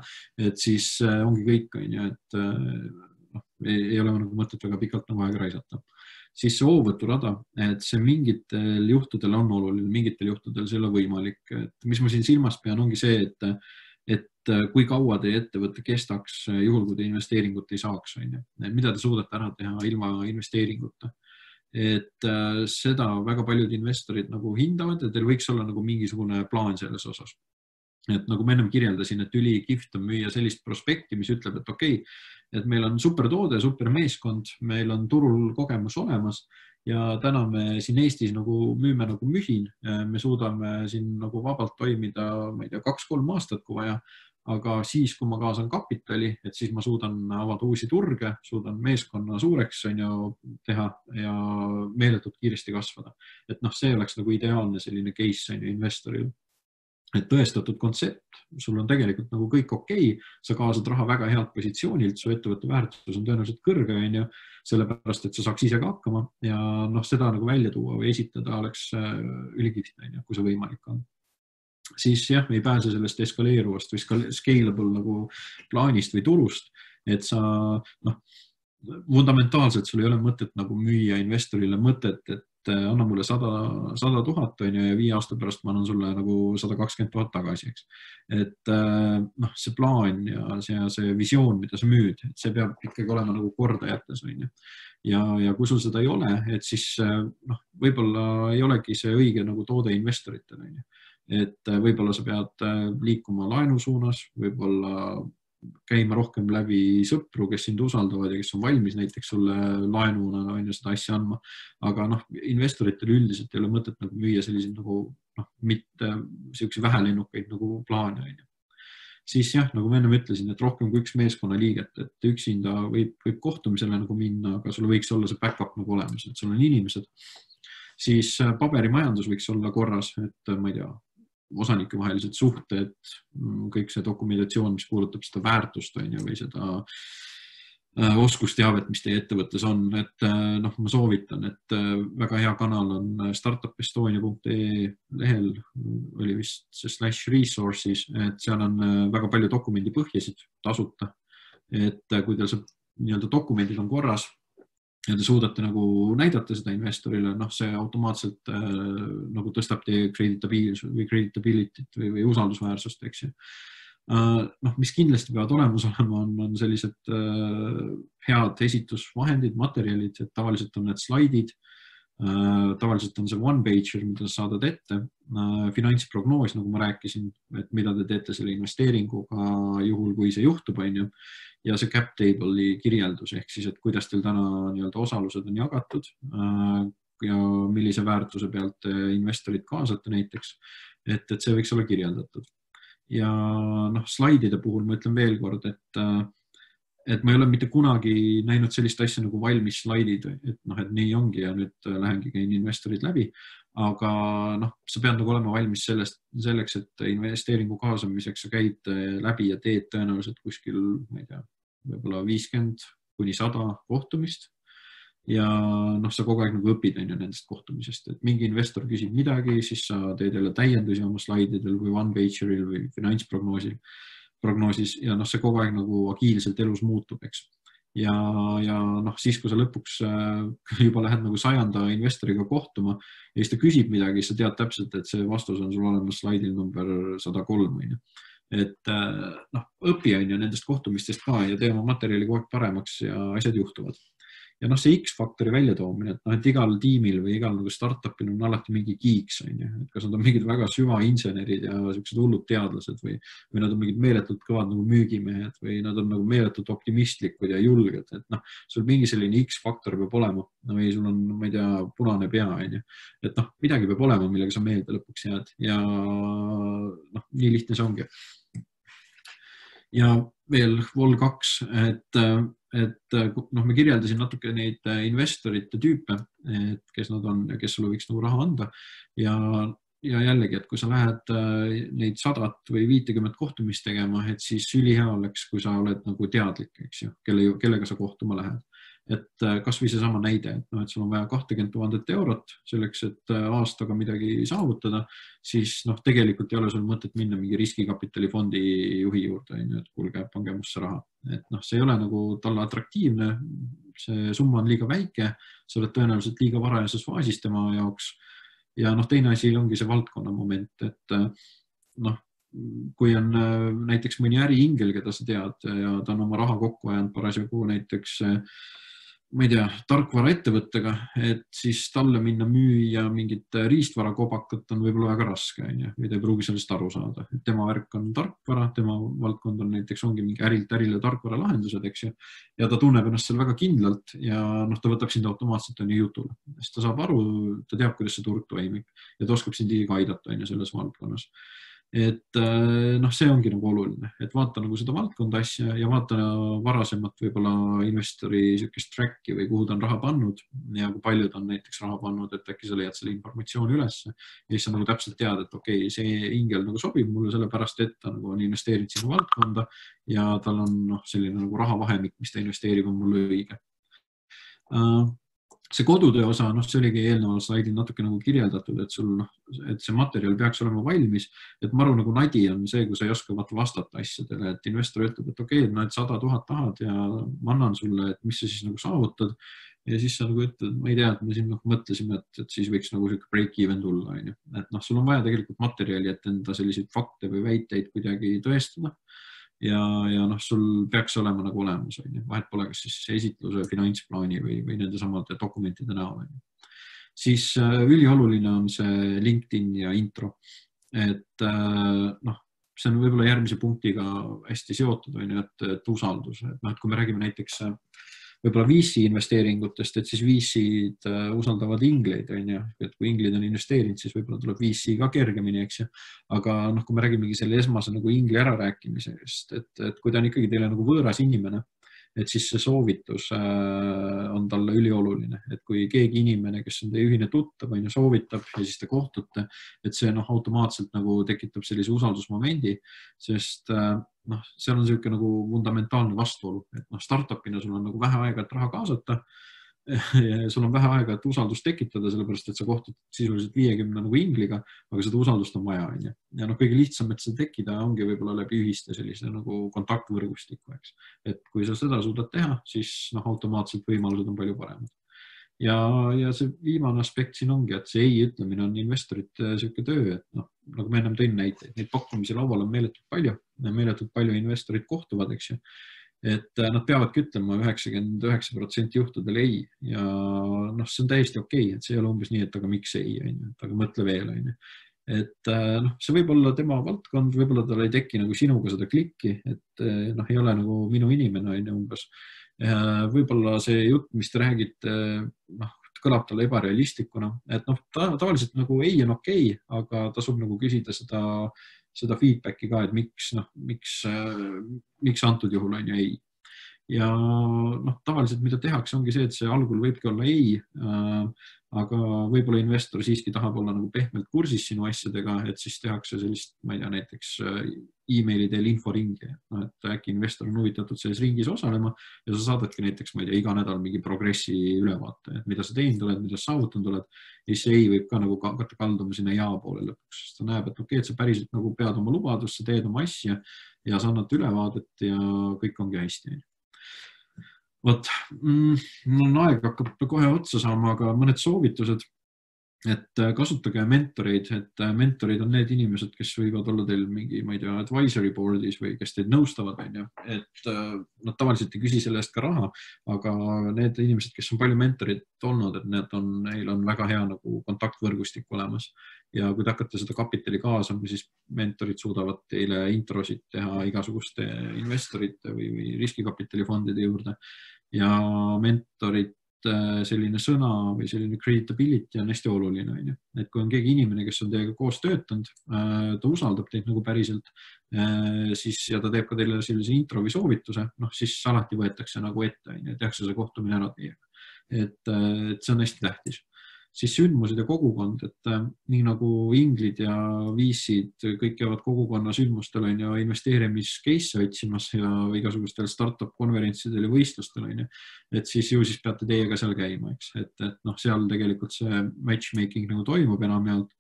et siis ongi kõik, on ju, et noh, ei ole nagu mõtet väga pikalt nagu aega raisata. siis see hoovõturada, et see mingitel juhtudel on oluline, mingitel juhtudel see ei ole võimalik. Et mis ma siin silmas pean, ongi see, et, et kui kaua teie ettevõte kestaks juhul, kui te investeeringut ei saaks, on ju. Mida te suudate ära teha ilma investeeringuta. Et seda väga paljud investorid nagu hindavad ja teil võiks olla nagu mingisugune plaan selles osas. Et nagu ma ennem kirjeldasin, et üli kihvt on müüa sellist prospekti, mis ütleb, et okei, et meil on super toode, super meeskond, meil on turul kogemus olemas ja täna me siin Eestis nagu müüme nagu mühin. Me suudame siin nagu vabalt toimida, ma ei tea, kaks-kolm aastat, kui vaja, aga siis, kui ma kaasan kapitali, et siis ma suudan avada uusi turge, suudan meeskonna suureks on ju, teha ja meeletult kiiresti kasvada. Et noh, see oleks nagu ideaalne selline case on ju investoril. Et tõestatud kontsept, sul on tegelikult nagu kõik okei, sa kaasad raha väga head positsioonilt, su ettevõtte väärtus on tõenäoliselt kõrge, on ju, sellepärast, et sa saaks ise ka hakkama ja noh, seda nagu välja tuua või esitada oleks ülikihvt, on ju, kui see võimalik on. Siis jah, ei pääse sellest eskaleeruvast või scalable nagu plaanist või turust, et sa noh, fundamentaalselt sul ei ole mõtet nagu müüa investorile mõtet, et anna mulle sada tuhat on ju ja viie aasta pärast ma annan sulle nagu sada kakskümmend tuhat tagasi, eks. Et noh, see plaan ja see, see visioon, mida sa müüd, et see peab ikkagi olema nagu korda jättes on ju. Ja, ja kui sul seda ei ole, et siis noh, võib-olla ei olegi see õige nagu toode investoritele on ju. Et võib-olla sa pead liikuma laenu suunas, võib-olla käima rohkem läbi sõpru, kes sind usaldavad ja kes on valmis näiteks sulle laenuna on ju seda asja andma. Aga noh, investoritel üldiselt ei ole mõtet nagu müüa selliseid nagu noh, mitte selline vähelennukaid nagu plaane on ju. Siis jah, nagu ma ennem ütlesin, et rohkem kui üks meeskonna liiget, et üksinda võib, võib kohtumisele nagu minna, aga sul võiks olla see backup nagu olemas, et sul on inimesed. Siis paberimajandus võiks olla korras, et ma ei tea, osanike vahelised suhted, kõik see dokumentatsioon, mis puudutab seda väärtust on ju, või seda oskusteavet, mis teie ettevõttes on, et noh, ma soovitan, et väga hea kanal on startup estonia punkt ee lehel, oli vist see slash resources, et seal on väga palju dokumendipõhjasid tasuta, et kui teil see nii-öelda dokumendid on korras ja te suudate nagu näidata seda investorile, noh, see automaatselt äh, nagu tõstab teie kreditability või kreditability't või, või usaldusväärsust, eks ju. Uh, noh, mis kindlasti peavad olemas olema, on, on sellised uh, head esitusvahendid, materjalid, et tavaliselt on need slaidid, uh, tavaliselt on see one-pager, mida sa saadad ette, uh, finantsprognoos, nagu ma rääkisin, et mida te teete selle investeeringuga juhul, kui see juhtub, on ju, ja see cap table'i kirjeldus, ehk siis, et kuidas teil täna nii-öelda osalused on jagatud uh, ja millise väärtuse pealt investorid kaasate näiteks, et, et see võiks olla kirjeldatud. Ja noh, slaidide puhul ma ütlen veel kord, et, et ma ei ole mitte kunagi näinud sellist asja nagu valmis slaidid, et noh, et nii ongi ja nüüd lähengi käin investorid läbi, aga noh, sa pead nagu olema valmis sellest, selleks, et investeeringu kaasamiseks sa käid läbi ja teed tõenäoliselt kuskil, ma ei tea, võib-olla viiskümmend kuni sada kohtumist. Ja noh, sa kogu aeg nagu õpid on ju nendest kohtumisest, et mingi investor küsib midagi, siis sa teed jälle täiendusi oma slaididel või one-pageril või finantsprognoosil, prognoosis ja noh, see kogu aeg nagu agiilselt elus muutub, eks. Ja, ja noh, siis kui sa lõpuks juba lähed nagu sajanda investoriga kohtuma ja siis ta küsib midagi, sa tead täpselt, et see vastus on sul olemas slaidil number sada kolm, on ju. Et noh, õpi on ju nendest kohtumistest ka ja tee oma materjali kogu aeg paremaks ja asjad juhtuvad. Ja noh, see X-faktori väljatoomine, et noh, et igal tiimil või igal nagu startupil on alati mingi geeks, on ju, et kas nad on mingid väga süvainsenerid ja sellised hullud teadlased või, või nad on mingid meeletult kõvad nagu müügimehed või nad on nagu meeletult optimistlikud ja julged, et noh, sul mingi selline X-faktor peab olema või sul on, ma ei tea, punane pea, on ju, et noh, midagi peab olema, millega sa meelde lõpuks jääd ja noh, nii lihtne see ongi. Ja veel vol kaks, et et noh, me kirjeldasin natuke neid investorite tüüpe, et kes nad on ja kes sulle võiks nagu raha anda ja, ja jällegi, et kui sa lähed neid sadat või viitekümmet kohtumist tegema, et siis ülihea oleks, kui sa oled nagu teadlik, eks ju, kelle, kellega sa kohtuma lähed. Et kas või see sama näide, et, no, et sul on vaja kakskümmend tuhat eurot selleks, et aastaga midagi saavutada, siis noh, tegelikult ei ole sul mõtet minna mingi riskikapitalifondi juhi juurde, et kuulge, pange musse raha. Et noh, see ei ole nagu talle atraktiivne, see summa on liiga väike, sa oled tõenäoliselt liiga varajases faasis tema jaoks. Ja noh, teine asi ongi see valdkonna moment, et noh, kui on näiteks mõni äriingel, keda sa tead ja ta on oma raha kokku ajanud parasjagu näiteks ma ei tea, tarkvara ettevõttega, et siis talle minna müüa mingit riistvara kobakat on võib-olla väga raske, või ta ei pruugi sellest aru saada. Et tema värk on tarkvara, tema valdkond on näiteks ongi mingi ärilt ärile tarkvara lahendused, eks ju, ja ta tunneb ennast seal väga kindlalt ja noh, ta võtab sind automaatselt on ju jutule. Sest ta saab aru, ta teab, kuidas see turg toimib ja ta oskab sind isegi aidata on ju selles valdkonnas. Et noh, see ongi nagu oluline, et vaata nagu seda valdkonda asja ja vaata varasemat võib-olla investori sükest tracki või kuhu ta on raha pannud ja kui palju ta on näiteks raha pannud, et äkki sa leiad selle informatsiooni üles ja siis sa nagu täpselt tead, et okei, okay, see ingel nagu sobib mulle sellepärast, et ta nagu on investeerinud sinu valdkonda ja tal on noh, selline nagu rahavahemik, mis ta investeerib, on mulle õige. See kodutöö osa, noh, see oligi eelneval slaidil natuke nagu kirjeldatud, et sul, noh, et see materjal peaks olema valmis, et maru nagu nadi on see, kui sa ei oska vastata asjadele, et investor ütleb, et okei, okay, no et sada tuhat tahad ja ma annan sulle, et mis sa siis nagu saavutad ja siis sa nagu ütled, ma ei tea, et me siin noh, mõtlesime, et, et siis võiks nagu siuke break even tulla, on ju. Et noh, sul on vaja tegelikult materjali, et enda selliseid fakte või väiteid kuidagi tõestada. Ja, ja noh, sul peaks olema nagu olemas, vahet pole, kas siis esitluse, finantsplaani või, või nende samade dokumentide näol. Siis ülioluline on see LinkedIn ja intro, et noh, see on võib-olla järgmise punktiga hästi seotud, et, et usaldus, et noh, et kui me räägime näiteks võib-olla V C investeeringutest, et siis V C-d usaldavad ingleid, et kui inglid on investeerinud, siis võib-olla tuleb V C ka kergemini, eks ju. Aga noh, kui me räägimegi selle esmase nagu ingli ärarääkimisest, et, et kui ta on ikkagi teile nagu võõras inimene, et siis see soovitus on talle ülioluline, et kui keegi inimene, kes on teie ühine tuttav, on ju, soovitab ja siis te kohtute, et see noh, automaatselt nagu tekitab sellise usaldusmomendi, sest noh, seal on selline nagu fundamentaalne vastuolu, et noh, startupina sul on nagu vähe aega, et raha kaasata ja sul on vähe aega, et usaldust tekitada, sellepärast, et sa kohtud sisuliselt viiekümne nagu ingliga, aga seda usaldust on vaja, on ju. Ja noh, kõige lihtsam, et seda tekkida ongi võib-olla läbi ühiste sellise nagu kontaktvõrgustiku, eks. Et kui sa seda suudad teha, siis noh, automaatselt võimalused on palju paremad. Ja, ja see viimane aspekt siin ongi, et see ei ütlemine on investorite selline töö, et noh, nagu me ennem tõin näiteid, neid pakkumisi laual on meeletult palju, meeletult palju investorid kohtuvad, eks ju. Et nad peavadki ütlema üheksakümmend üheksa protsenti juhtudel ei ja noh, see on täiesti okei, et see ei ole umbes nii, et aga miks ei, aga mõtle veel, on ju. Et noh, see võib olla tema valdkond, võib-olla tal ei teki nagu sinuga seda klikki, et noh, ei ole nagu minu inimene, on ju umbes. Võib-olla see jutt, mis te räägite, noh, kõlab talle ebarealistikuna, et noh, tavaliselt nagu ei on okei, aga tasub nagu küsida seda seda feedbacki ka, et miks, noh, miks, miks antud juhul on ju ei. Ja noh, tavaliselt mida tehakse ongi see, et see algul võibki olla ei, aga võib-olla investor siiski tahab olla nagu pehmelt kursis sinu asjadega, et siis tehakse sellist, ma ei tea, näiteks e-maili teel inforingi, no, et äkki investor on huvitatud selles ringis osalema ja sa saadadki näiteks, ma ei tea, iga nädal mingi progressi ülevaate, et mida sa teinud oled, mida sa saavutanud oled, ja siis ei võib ka nagu hakata kalduma sinna ja poole lõpuks, sest ta näeb, et okei, et sa päriselt nagu pead oma lubadust, sa teed oma asja ja sa annad ülevaadet ja kõik ongi hästi. Vot, mul on aeg hakkab kohe otsa saama, aga mõned soovitused, et kasutage mentoreid, et mentorid on need inimesed, kes võivad olla teil mingi, ma ei tea, advisory board'is või kes teid nõustavad, on ju, et nad tavaliselt ei küsi selle eest ka raha, aga need inimesed, kes on palju mentorid olnud, et need on, neil on väga hea nagu kontaktvõrgustik olemas ja kui te hakkate seda kapitali kaasama, siis mentorid suudavad teile introsid teha igasuguste investorite või, või riskikapitalifondide juurde ja mentorid selline sõna või selline creditability on hästi oluline, on ju. Et kui on keegi inimene, kes on teiega koos töötanud, ta usaldab teid nagu päriselt, siis ja ta teeb ka teile sellise intro või soovituse, noh, siis alati võetakse nagu ette, on ju, tehakse see kohtumine ära teiega. Et, et see on hästi tähtis. Siis sündmused ja kogukond, et nii nagu inglid ja viisid kõik jäävad kogukonna sündmustel on ja investeerimiskeisse otsimas ja igasugustel startup konverentsidel ja võistlustel on ja, et siis ju siis peate teiega seal käima, eks, et, et noh, seal tegelikult see matchmaking nagu toimub enamjaolt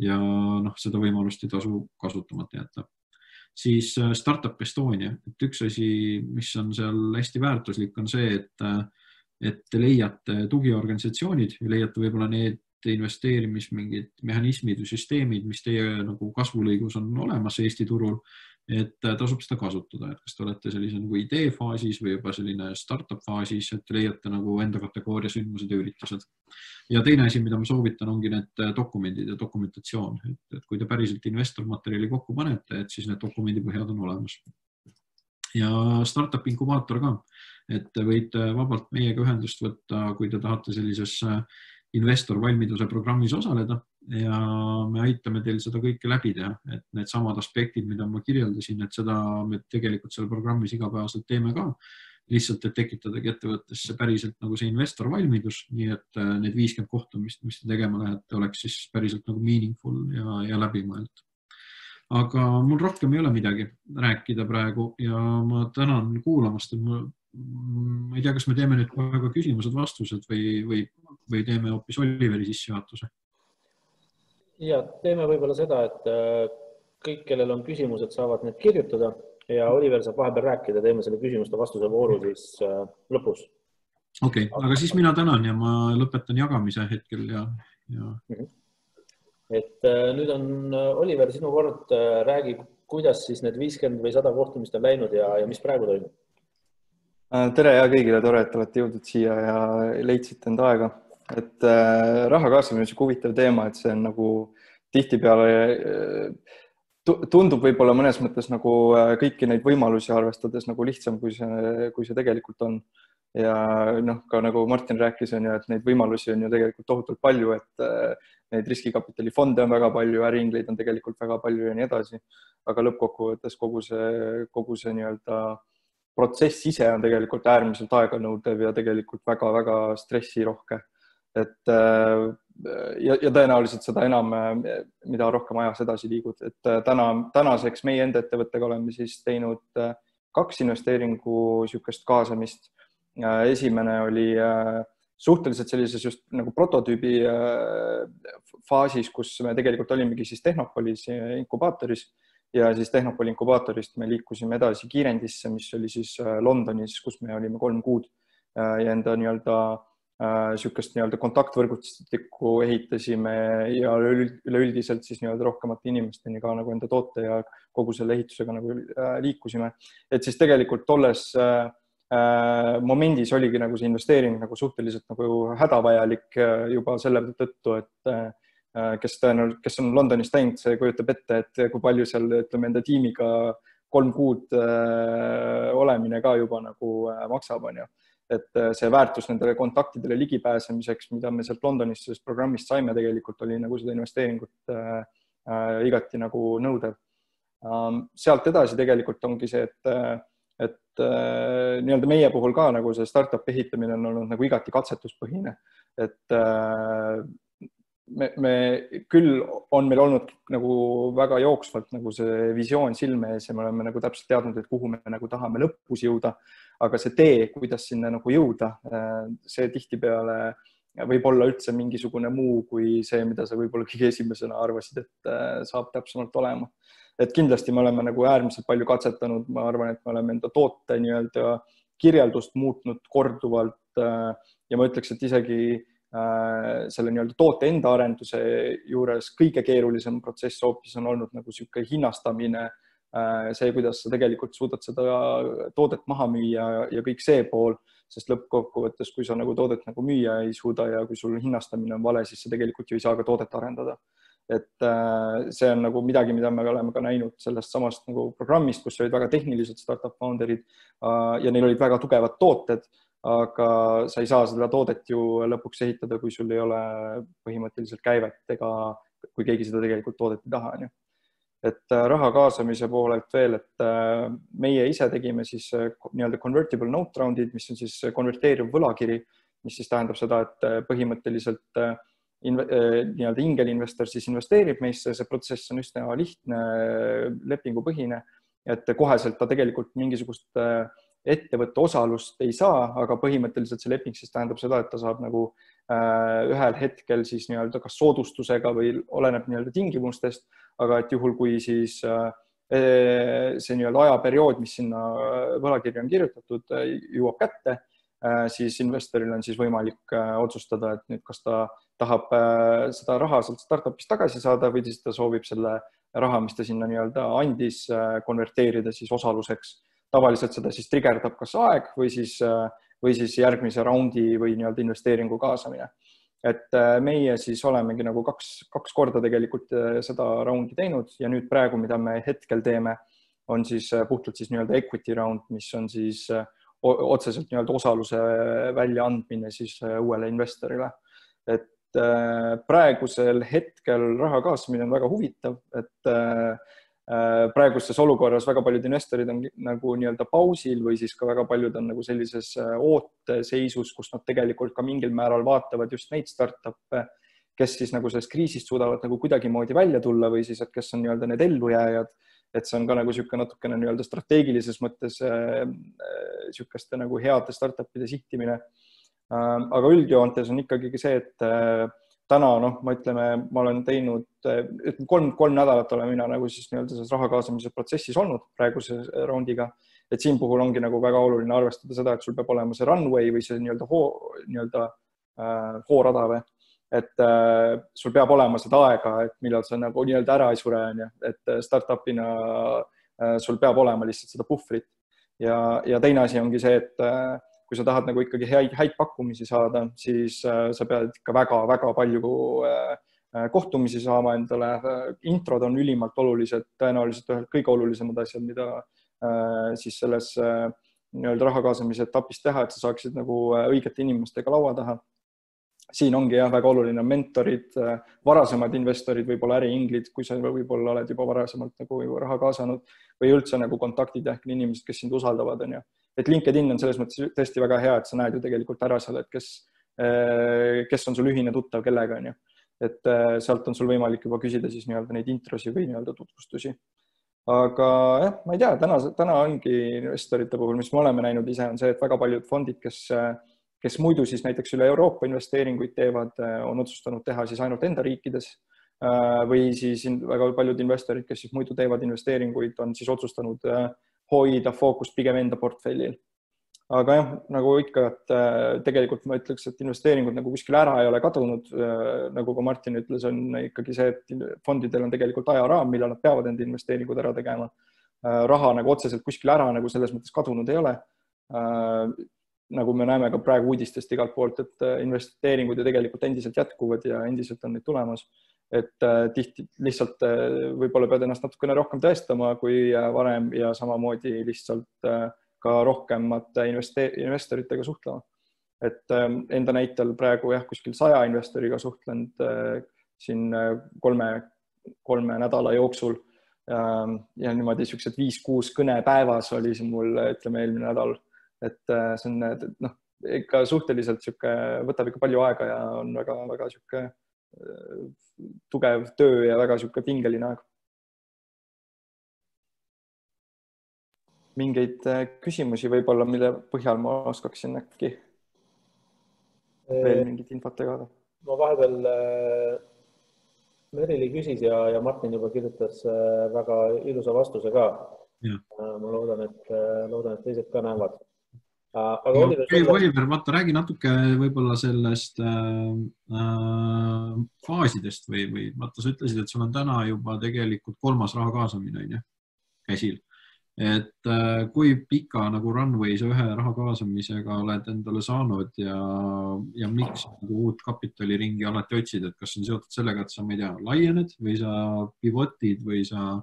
ja noh, seda võimalust ei tasu kasutamata jätta. Siis Startup Estonia, et üks asi, mis on seal hästi väärtuslik, on see, et et te leiate tugiorganisatsioonid ja leiate võib-olla need investeerimis mingid mehhanismid või süsteemid, mis teie nagu kasvulõigus on olemas Eesti turul, et tasub seda kasutada, et kas te olete sellise nagu idee faasis või juba selline startup faasis, et leiate nagu enda kategooria sündmused ja üritused. Ja teine asi, mida ma soovitan, ongi need dokumendid ja dokumentatsioon, et, et kui te päriselt investormaterjali kokku panete, et siis need dokumendipõhjad on olemas. Ja startup inkubaator ka, et te võite vabalt meiega ühendust võtta, kui te tahate sellises investor valmiduse programmis osaleda ja me aitame teil seda kõike läbi teha, et need samad aspektid, mida ma kirjeldasin, et seda me tegelikult selle programmis igapäevaselt teeme ka, lihtsalt, et tekitadagi ettevõttesse päriselt nagu see investor valmidus, nii et need viiskümmend kohtumist, mis te tegema lähete, oleks siis päriselt nagu meaningful ja, ja läbimõeldud. Aga mul rohkem ei ole midagi rääkida praegu ja ma tänan kuulamast, et ma, ma ei tea, kas me teeme nüüd väga küsimused-vastused või, või, või teeme hoopis Oliveri sissejuhatuse? Ja, teeme võib-olla seda, et kõik, kellel on küsimused, saavad need kirjutada ja Oliver saab vahepeal rääkida, teeme selle küsimuste vastuse vooru siis lõpus. Okei, okay, aga siis mina tänan ja ma lõpetan jagamise hetkel ja, ja... Et nüüd on Oliver, sinu kord, räägi, kuidas siis need viiskümmend või sada kohtumist on läinud ja, ja mis praegu toimub? Tere ja kõigile, tore, et olete jõudnud siia ja leidsite enda aega. Et äh, raha kaasamine on see huvitav teema, et see on nagu tihtipeale tundub võib-olla mõnes mõttes nagu kõiki neid võimalusi arvestades nagu lihtsam, kui see, kui see tegelikult on. Ja noh, ka nagu Martin rääkis, on ju, et neid võimalusi on ju tegelikult tohutult palju, et neid riskikapitali fonde on väga palju, äriingleid on tegelikult väga palju ja nii edasi. Aga lõppkokkuvõttes kogu see, kogu see nii-öelda protsess ise on tegelikult äärmiselt aeganõudev ja tegelikult väga-väga stressirohke. Et ja, ja tõenäoliselt seda enam, mida rohkem ajas edasi liigud. Et täna, tänaseks meie enda ettevõttega oleme siis teinud kaks investeeringu sükest kaasamist. Esimene oli suhteliselt sellises just nagu prototüübi faasis, kus me tegelikult olimegi siis Tehnopolis inkubaatoris ja siis Tehnopoli inkubaatorist me liikusime edasi Kiirendisse, mis oli siis Londonis, kus me olime kolm kuud ja enda nii-öelda sükest nii-öelda kontaktvõrgustikku ehitasime ja üleüldiselt siis nii-öelda rohkemate inimesteni ka nagu enda toote ja kogu selle ehitusega nagu liikusime. Et siis tegelikult tolles momendis oligi nagu see investeering nagu suhteliselt nagu hädavajalik juba selle tõttu, et kes, tõenäoliselt, kes on Londonis teinud, see kujutab ette, et kui palju seal ütleme enda tiimiga kolm kuud olemine ka juba nagu maksab, on ju. Et see väärtus nendele kontaktidele ligipääsemiseks, mida me sealt Londonis sellest programmist saime, tegelikult oli nagu seda investeeringut igati nagu nõudev. Sealt edasi tegelikult ongi see, et et äh, nii-öelda meie puhul ka nagu see startup ehitamine on olnud nagu igati katsetuspõhine, et äh, me, me küll on meil olnud nagu väga jooksvalt nagu see visioon silme ees ja me oleme nagu täpselt teadnud, et kuhu me nagu tahame lõpus jõuda, aga see tee, kuidas sinna nagu jõuda, see tihtipeale võib olla üldse mingisugune muu kui see, mida sa võib-olla kõige esimesena arvasid, et saab täpsemalt olema. Et kindlasti me oleme nagu äärmiselt palju katsetanud, ma arvan, et me oleme enda toote nii-öelda kirjeldust muutnud korduvalt ja ma ütleks, et isegi selle nii-öelda toote enda arenduse juures kõige keerulisem protsess hoopis on olnud nagu sihuke hinnastamine, see, kuidas sa tegelikult suudad seda toodet maha müüa ja kõik see pool, sest lõppkokkuvõttes, kui sa nagu toodet nagu müüa ei suuda ja kui sul hinnastamine on vale, siis sa tegelikult ju ei saa ka toodet arendada. Et see on nagu midagi, mida me oleme ka näinud sellest samast nagu programmist, kus olid väga tehnilised startup founderid ja neil olid väga tugevad tooted, aga sa ei saa seda toodet ju lõpuks ehitada, kui sul ei ole põhimõtteliselt käivet ega kui keegi seda tegelikult toodet ei taha. Et raha kaasamise poolelt veel, et meie ise tegime siis nii-öelda convertible note roundid, mis on siis konverteeriv võlakiri, mis siis tähendab seda, et põhimõtteliselt nii-öelda ingelinvestor siis investeerib meisse, see protsess on üsna lihtne, lepingupõhine, et koheselt ta tegelikult mingisugust ettevõtte osalust ei saa, aga põhimõtteliselt see leping siis tähendab seda, et ta saab nagu ühel hetkel siis nii-öelda kas soodustusega või oleneb nii-öelda tingimustest, aga et juhul, kui siis see nii-öelda ajaperiood, mis sinna võlakirja on kirjutatud, jõuab kätte, siis investoril on siis võimalik otsustada, et nüüd kas ta tahab seda raha sealt startupist tagasi saada või siis ta soovib selle raha, mis ta sinna nii-öelda andis, konverteerida siis osaluseks. Tavaliselt seda siis trigerdab kas aeg või siis, või siis järgmise raundi või nii-öelda investeeringu kaasamine. Et meie siis olemegi nagu kaks, kaks korda tegelikult seda raundi teinud ja nüüd praegu, mida me hetkel teeme, on siis puhtalt siis nii-öelda equity round, mis on siis otseselt nii-öelda osaluse väljaandmine siis uuele investorile. Et praegusel hetkel raha kaasamine on väga huvitav, et praeguses olukorras väga paljud investorid on nagu nii-öelda pausil või siis ka väga paljud on nagu sellises ooteseisus, kus nad tegelikult ka mingil määral vaatavad just neid startup'e, kes siis nagu sellest kriisist suudavad nagu kuidagi moodi välja tulla või siis, et kes on nii-öelda need ellujääjad. Et see on ka nagu siuke natukene nii-öelda strateegilises mõttes siukeste nagu heade startupide sihtimine. Aga üldjoontes on ikkagi see, et täna, noh, ma ütleme, ma olen teinud kolm, kolm nädalat olen mina nagu siis nii-öelda selles raha kaasamise protsessis olnud praeguse raundiga. Et siin puhul ongi nagu väga oluline arvestada seda, et sul peab olema see runway või see nii-öelda hoo, nii-öelda hoorada või. Et äh, sul peab olema seda aega, et millal sa nagu nii-öelda ära ei sure, et startupina äh, sul peab olema lihtsalt seda puhvrit. Ja, ja teine asi ongi see, et äh, kui sa tahad nagu ikkagi häid, häid pakkumisi saada, siis äh, sa pead ikka väga, väga palju äh, kohtumisi saama endale. Introd on ülimalt olulised, tõenäoliselt ühelt kõige olulisemad asjad, mida äh, siis selles äh, nii-öelda raha kaasamise etapis teha, et sa saaksid nagu õigete inimestega laua taha. Siin ongi jah, väga oluline mentorid, varasemad investorid, võib-olla äriinglid, kui sa võib-olla oled juba varasemalt nagu raha kaasanud või üldse nagu kontaktid ehk inimesed, kes sind usaldavad. On, ja. Et LinkedIn on selles mõttes tõesti väga hea, et sa näed ju tegelikult ära seal, et kes, kes on sul ühine tuttav kellega. On, ja. Et sealt on sul võimalik juba küsida siis nii-öelda neid introsi või nii-öelda tutvustusi. Aga jah, ma ei tea, täna, täna ongi investorite puhul, mis me oleme näinud ise, on see, et väga paljud fondid, kes kes muidu siis näiteks üle Euroopa investeeringuid teevad, on otsustanud teha siis ainult enda riikides või siis väga paljud investorid, kes siis muidu teevad investeeringuid, on siis otsustanud hoida fookust pigem enda portfellil. Aga jah, nagu ikka, et tegelikult ma ütleks, et investeeringud nagu kuskil ära ei ole kadunud, nagu ka Martin ütles, on ikkagi see, et fondidel on tegelikult ajaraam, millal nad peavad enda investeeringud ära tegema. Raha nagu otseselt kuskil ära nagu selles mõttes kadunud ei ole. Nagu me näeme ka praegu uudistest igalt poolt, et investeeringud ju tegelikult endiselt jätkuvad ja endiselt on neid tulemas. Et tihti lihtsalt võib-olla pead ennast natukene rohkem tõestama kui varem ja samamoodi lihtsalt ka rohkemate investoritega suhtlema. Et enda näitel praegu jah, kuskil saja investoriga suhtlenud siin kolme, kolme nädala jooksul ja niimoodi siuksed viis kuus kõne päevas oli siin mul, ütleme, eelmine nädal. Et see on no, ikka suhteliselt siuke, võtab ikka palju aega ja on väga, väga siuke tugev töö ja väga siuke pingeline aeg. Mingeid küsimusi võib-olla, mille põhjal ma oskaksin äkki veel mingit infot tegada? Ma vahepeal Merili küsis ja, ja Martin juba kirjutas väga ilusa vastuse ka. Ja. Ma loodan, et, loodan, et teised ka näevad. Aga no, Oliver, sulle... Oliver, vaata, räägi natuke võib-olla sellest äh, faasidest või, või vaata, sa ütlesid, et sul on täna juba tegelikult kolmas raha kaasamine on, ja, käsil. Et äh, kui pika nagu runway sa ühe raha kaasamisega oled endale saanud ja, ja miks nagu uut kapitaliringi alati otsid, et kas on seotud sellega, et sa, ma ei tea, laiened või sa pivotid või sa,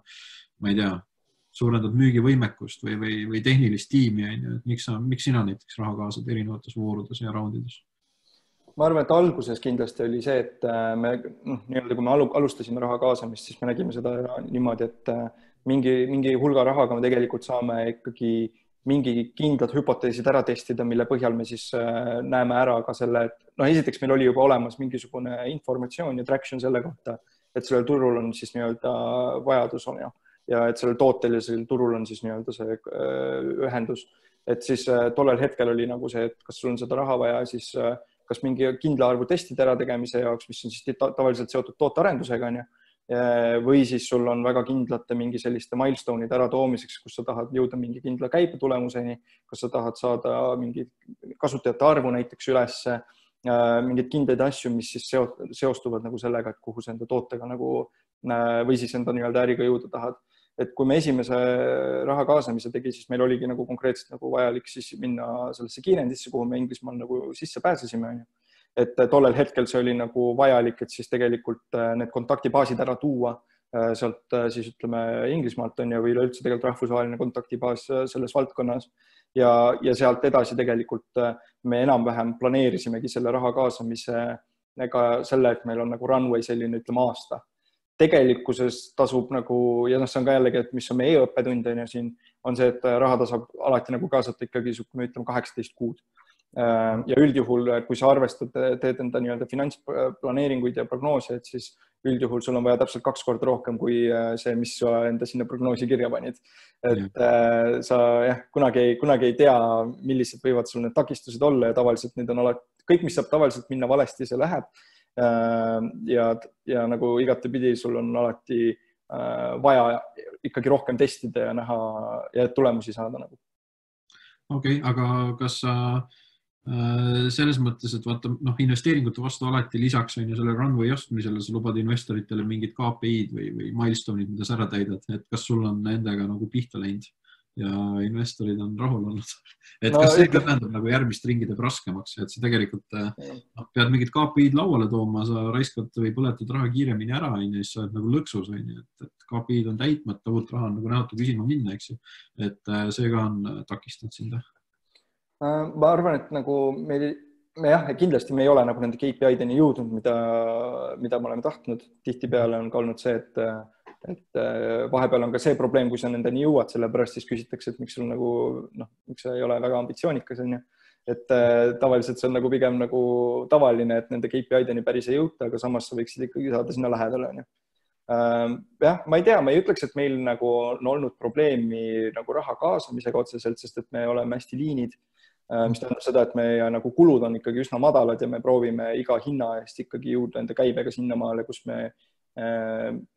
ma ei tea, suurendad müügivõimekust või, või, või tehnilist tiimi, et miks, sa, miks sina näiteks raha kaasad erinevates voorudes ja raundides? Ma arvan, et alguses kindlasti oli see, et me, noh, nii-öelda, kui me alustasime raha kaasamist, siis me nägime seda niimoodi, et mingi, mingi hulga rahaga me tegelikult saame ikkagi mingi kindlad hüpoteesid ära testida, mille põhjal me siis näeme ära ka selle, et noh, esiteks meil oli juba olemas mingisugune informatsioon ja traction selle kohta, et sellel turul on siis nii-öelda vajadus on ja ja et sellel tootelisel turul on siis nii-öelda see ühendus, et siis tollel hetkel oli nagu see, et kas sul on seda raha vaja, siis kas mingi kindla arvu testide ära tegemise jaoks, mis on siis tavaliselt seotud tootearendusega, on ja, või siis sul on väga kindlate mingi selliste milestone'ide ära toomiseks, kus sa tahad jõuda mingi kindla käibe tulemuseni, kas sa tahad saada mingi kasutajate arvu näiteks ülesse, mingeid kindaid asju, mis siis seostuvad nagu sellega, et kuhu sa enda tootega nagu või siis enda nii-öelda äriga jõuda tahad. Et kui me esimese raha kaasamise tegi, siis meil oligi nagu konkreetselt nagu vajalik siis minna sellesse kiirendisse, kuhu me Inglismaal nagu sisse pääsesime. Et tollel hetkel see oli nagu vajalik, et siis tegelikult need kontaktibaasid ära tuua sealt siis ütleme Inglismaalt on ja või üleüldse tegelikult rahvusvaheline kontaktibaas selles valdkonnas ja, ja sealt edasi tegelikult me enam-vähem planeerisimegi selle raha kaasamise ega selle, et meil on nagu runway selline ütleme aasta. Tegelikkuses tasub nagu, ja noh, see on ka jällegi, et mis on meie õppetund on ja siin on see, et raha tasub alati nagu kaasata ikkagi me ütleme kaheksateist kuud. Ja üldjuhul, kui sa arvestad, teed enda nii-öelda finantsplaneeringuid ja prognoose, et siis üldjuhul sul on vaja täpselt kaks korda rohkem kui see, mis sa enda sinna prognoosi kirja panid. Et sa jah, kunagi, kunagi ei tea, millised võivad sul need takistused olla ja tavaliselt need on alati, kõik, mis saab tavaliselt minna valesti, see läheb. Ja, ja nagu igatepidi sul on alati vaja ikkagi rohkem testida ja näha ja tulemusi saada nagu. Okei, okay, aga kas sa selles mõttes, et vaata, noh, investeeringute vastu alati lisaks on ju selle runway ostmisele, sa lubad investoritele mingid K P I-d või, või milestone'id, mida sa ära täidad, et kas sul on nendega nagu pihta läinud ja investorid on rahul olnud. Et no, kas see ikka tähendab nagu järgmist ringi teeb raskemaks, et sa tegelikult no, pead mingid K P I-d lauale tooma, sa raiskad või põletad raha kiiremini ära, ja siis sa oled nagu lõksus, et, et K P I-d on täitmata, uut raha on nagu näotu küsima minna, eks ju. Et see ka on takistanud sind. Ma arvan, et nagu meil, me jah, kindlasti me ei ole nagu nende K P I-deni jõudnud, mida, mida me oleme tahtnud. Tihtipeale on ka olnud see, et, et vahepeal on ka see probleem, kui sa nendeni jõuad, sellepärast siis küsitakse, et miks sul nagu, noh, miks sa ei ole väga ambitsioonikas, on ju. Et tavaliselt see on nagu pigem nagu tavaline, et nende K P I-deni päris ei jõuta, aga samas sa võiksid ikkagi saada sinna lähedale, on ju. Jah, ma ei tea, ma ei ütleks, et meil nagu on olnud probleemi nagu raha kaasamisega otseselt, sest et me oleme hästi liinid. Mis tähendab seda, et meie nagu kulud on ikkagi üsna madalad ja me proovime iga hinna eest ikkagi jõuda enda käibega sinnamaale, kus me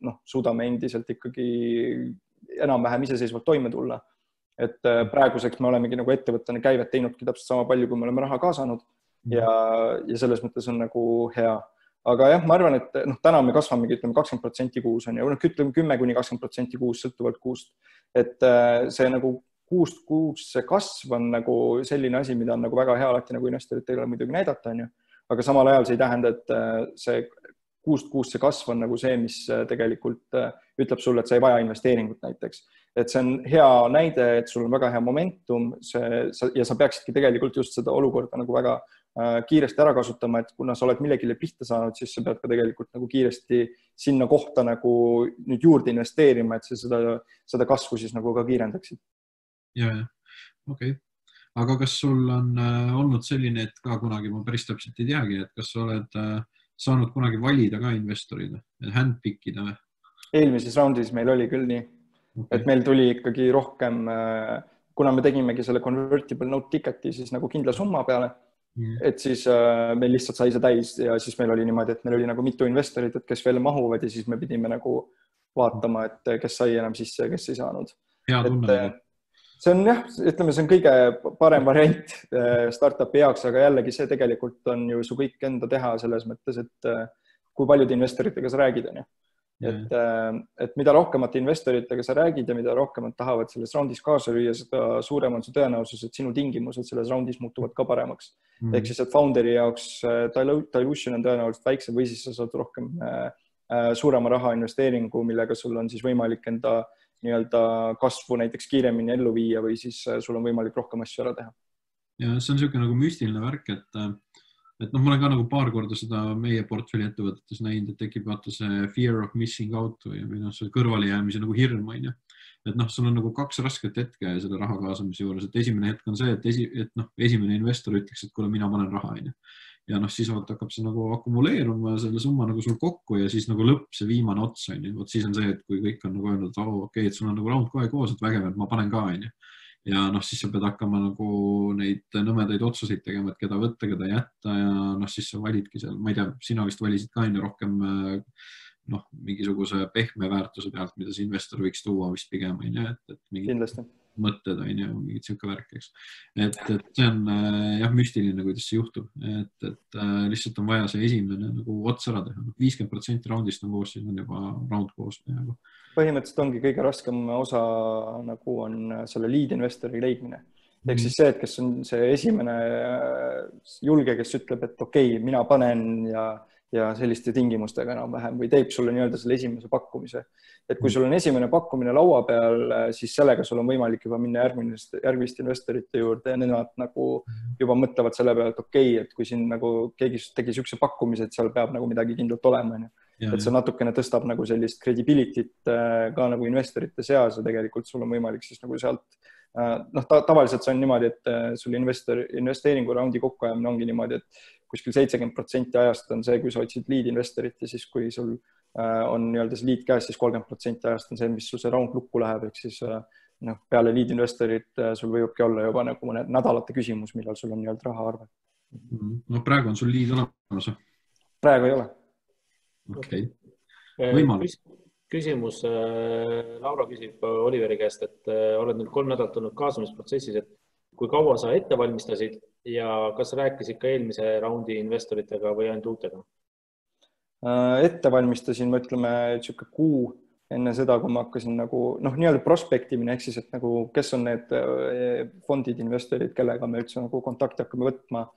noh, suudame endiselt ikkagi enam-vähem iseseisvalt toime tulla. Et praeguseks me olemegi nagu ettevõttena käivet teinudki täpselt sama palju, kui me oleme raha kaasanud ja, ja selles mõttes on nagu hea. Aga jah, ma arvan, et noh, täna me kasvamegi ütleme kakskümmend protsenti kuus on ja ütleme kümme kuni kakskümmend protsenti kuus sõltuvalt kuust. Et see nagu kuust kuus see kasv on nagu selline asi, mida on nagu väga hea alati nagu investoritele muidugi näidata, on ju. Aga samal ajal see ei tähenda, et see kuust kuus see kasv on nagu see, mis tegelikult ütleb sulle, et sa ei vaja investeeringut näiteks. Et see on hea näide, et sul on väga hea momentum see, ja sa peaksidki tegelikult just seda olukorda nagu väga kiiresti ära kasutama, et kuna sa oled millegile pihta saanud, siis sa pead ka tegelikult nagu kiiresti sinna kohta nagu nüüd juurde investeerima, et sa seda, seda kasvu siis nagu ka kiirendaksid. Ja, ja. Okei. Okay. Aga kas sul on äh, olnud selline, et ka kunagi, ma päris täpselt ei teagi, et kas sa oled äh, saanud kunagi valida ka investorida, handpickida või? Eelmises raundis meil oli küll nii, okay. Et meil tuli ikkagi rohkem, äh, kuna me tegimegi selle convertible note ticketi siis nagu kindla summa peale, mm. et siis äh, meil lihtsalt sai see täis ja siis meil oli niimoodi, et meil oli nagu mitu investorit, et kes veel mahuvad ja siis me pidime nagu vaatama, et kes sai enam sisse ja kes ei saanud. Hea tunne. Et, see on jah, ütleme, see on kõige parem variant startupi jaoks, aga jällegi see tegelikult on ju su kõik enda teha selles mõttes, et kui paljude investoritega sa räägid, on ju. Et, et mida rohkemate investoritega sa räägid ja mida rohkemad tahavad selles raundis kaasa lüüa, seda suurem on see tõenäosus, et sinu tingimused selles raundis muutuvad ka paremaks. Mm. Ehk siis, et founderi jaoks dilution on tõenäoliselt väiksem või siis sa saad rohkem suurema raha investeeringu, millega sul on siis võimalik enda nii-öelda kasvu näiteks kiiremini ellu viia või siis sul on võimalik rohkem asju ära teha. Ja see on niisugune nagu müstiline värk, et, et noh, ma olen ka nagu paar korda seda meie portfelli ettevõtetes näinud, et tekib vaata see fear of missing out või, või noh, see kõrvale jäämise nagu hirm, on ju. Et noh, sul on nagu kaks rasket hetke selle raha kaasamise juures, et esimene hetk on see, et, esi, et noh, esimene investor ütleks, et kuule, mina panen raha, on ju. Ja noh, siis vaat hakkab see nagu akumuleeruma selle summa nagu sul kokku ja siis nagu lõpp see viimane ots on ju. Vot siis on see, et kui kõik on nagu öelnud, et oh, okei, okay, et sul on nagu raund kohe koos, et vägev, et ma panen ka on ju. Ja noh, siis sa pead hakkama nagu neid nõmedaid otsuseid tegema, et keda võtta, keda jätta ja noh, siis sa validki seal, ma ei tea, sina vist valisid ka enne rohkem noh, mingisuguse pehme väärtuse pealt, mida see investor võiks tuua vist pigem, on ju, et, et mingid Kindlasti. mõtted, on ju, mingid siuke värk, eks. Et, et see on jah, müstiline, kuidas see juhtub, et, et lihtsalt on vaja see esimene nagu ots ära teha. viiskümmend protsenti raundist on koos, siin on juba raund koos. Põhimõtteliselt ongi kõige raskem osa nagu on selle lead investori leidmine. Ehk siis see, et kes on see esimene julge, kes ütleb, et okei, okay, mina panen ja, ja selliste tingimustega enam vähem või teeb sulle nii-öelda selle esimese pakkumise. Et kui sul on esimene pakkumine laua peal, siis sellega sul on võimalik juba minna järgmist, järgmist investorite juurde ja nemad nagu juba mõtlevad selle peale, et okei, okay, et kui siin nagu keegi tegi sükse pakkumise, et seal peab nagu midagi kindlalt olema. Ja, et see natukene tõstab nagu sellist credibility't ka nagu investorite seas ja tegelikult sul on võimalik siis nagu sealt noh, ta, tavaliselt see on niimoodi, et sul investor, investeeringu raundi kokkuajamine ongi niimoodi, et kuskil seitsekümmend protsenti ajast on see, kui sa otsid lead investorit ja siis kui sul on nii-öelda see lead käes, siis kolmkümmend protsenti ajast on see, mis sul see raund lukku läheb, ehk siis noh, peale lead investorit sul võibki olla juba nagu mõne nädalate küsimus, millal sul on nii-öelda raha arve. No praegu on sul lead olemas? Praegu ei ole. Okei. Okay. Võimalus. Küsimus, Laura küsib Oliveri käest, et oled nüüd kolm nädalat olnud kaasamisprotsessis, et kui kaua sa ette valmistasid ja kas rääkisid ka eelmise raundi investoritega või ainult uutega? Ette valmistasin, ma ütleme, tšuka kuu enne seda, kui ma hakkasin nagu, noh, nii-öelda prospektimine, ehk siis, et nagu, kes on need fondid, investorid, kellega me üldse nagu kontakti hakkame võtma,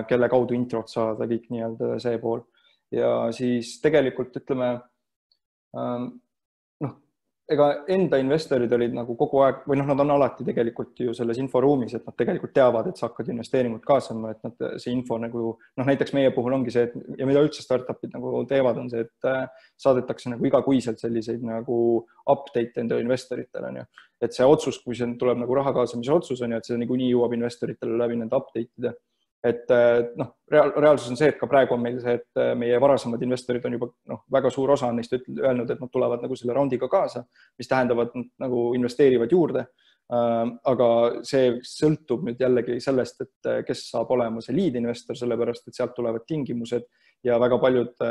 kelle kaudu introt saada, kõik nii-öelda see pool. Ja siis tegelikult ütleme, noh, ega enda investorid olid nagu kogu aeg, või noh, nad on alati tegelikult ju selles inforuumis, et nad tegelikult teavad, et sa hakkad investeeringut kaasama, et nad, see info nagu, noh, näiteks meie puhul ongi see, et, ja mida üldse startupid nagu teevad, on see, et saadetakse nagu igakuiselt selliseid nagu update enda investoritele, on ju. Et see otsus, kui see tuleb nagu raha kaasamise otsus, on ju, et see niikuinii jõuab investoritele läbi nende update'ide. Et noh, reaal, reaalsus on see, et ka praegu on meil see, et meie varasemad investorid on juba noh, väga suur osa neist öelnud, et nad tulevad nagu selle raundiga kaasa, mis tähendavad nagu investeerivad juurde. Aga see sõltub nüüd jällegi sellest, et kes saab olema see lead investor, sellepärast, et sealt tulevad tingimused ja väga paljud,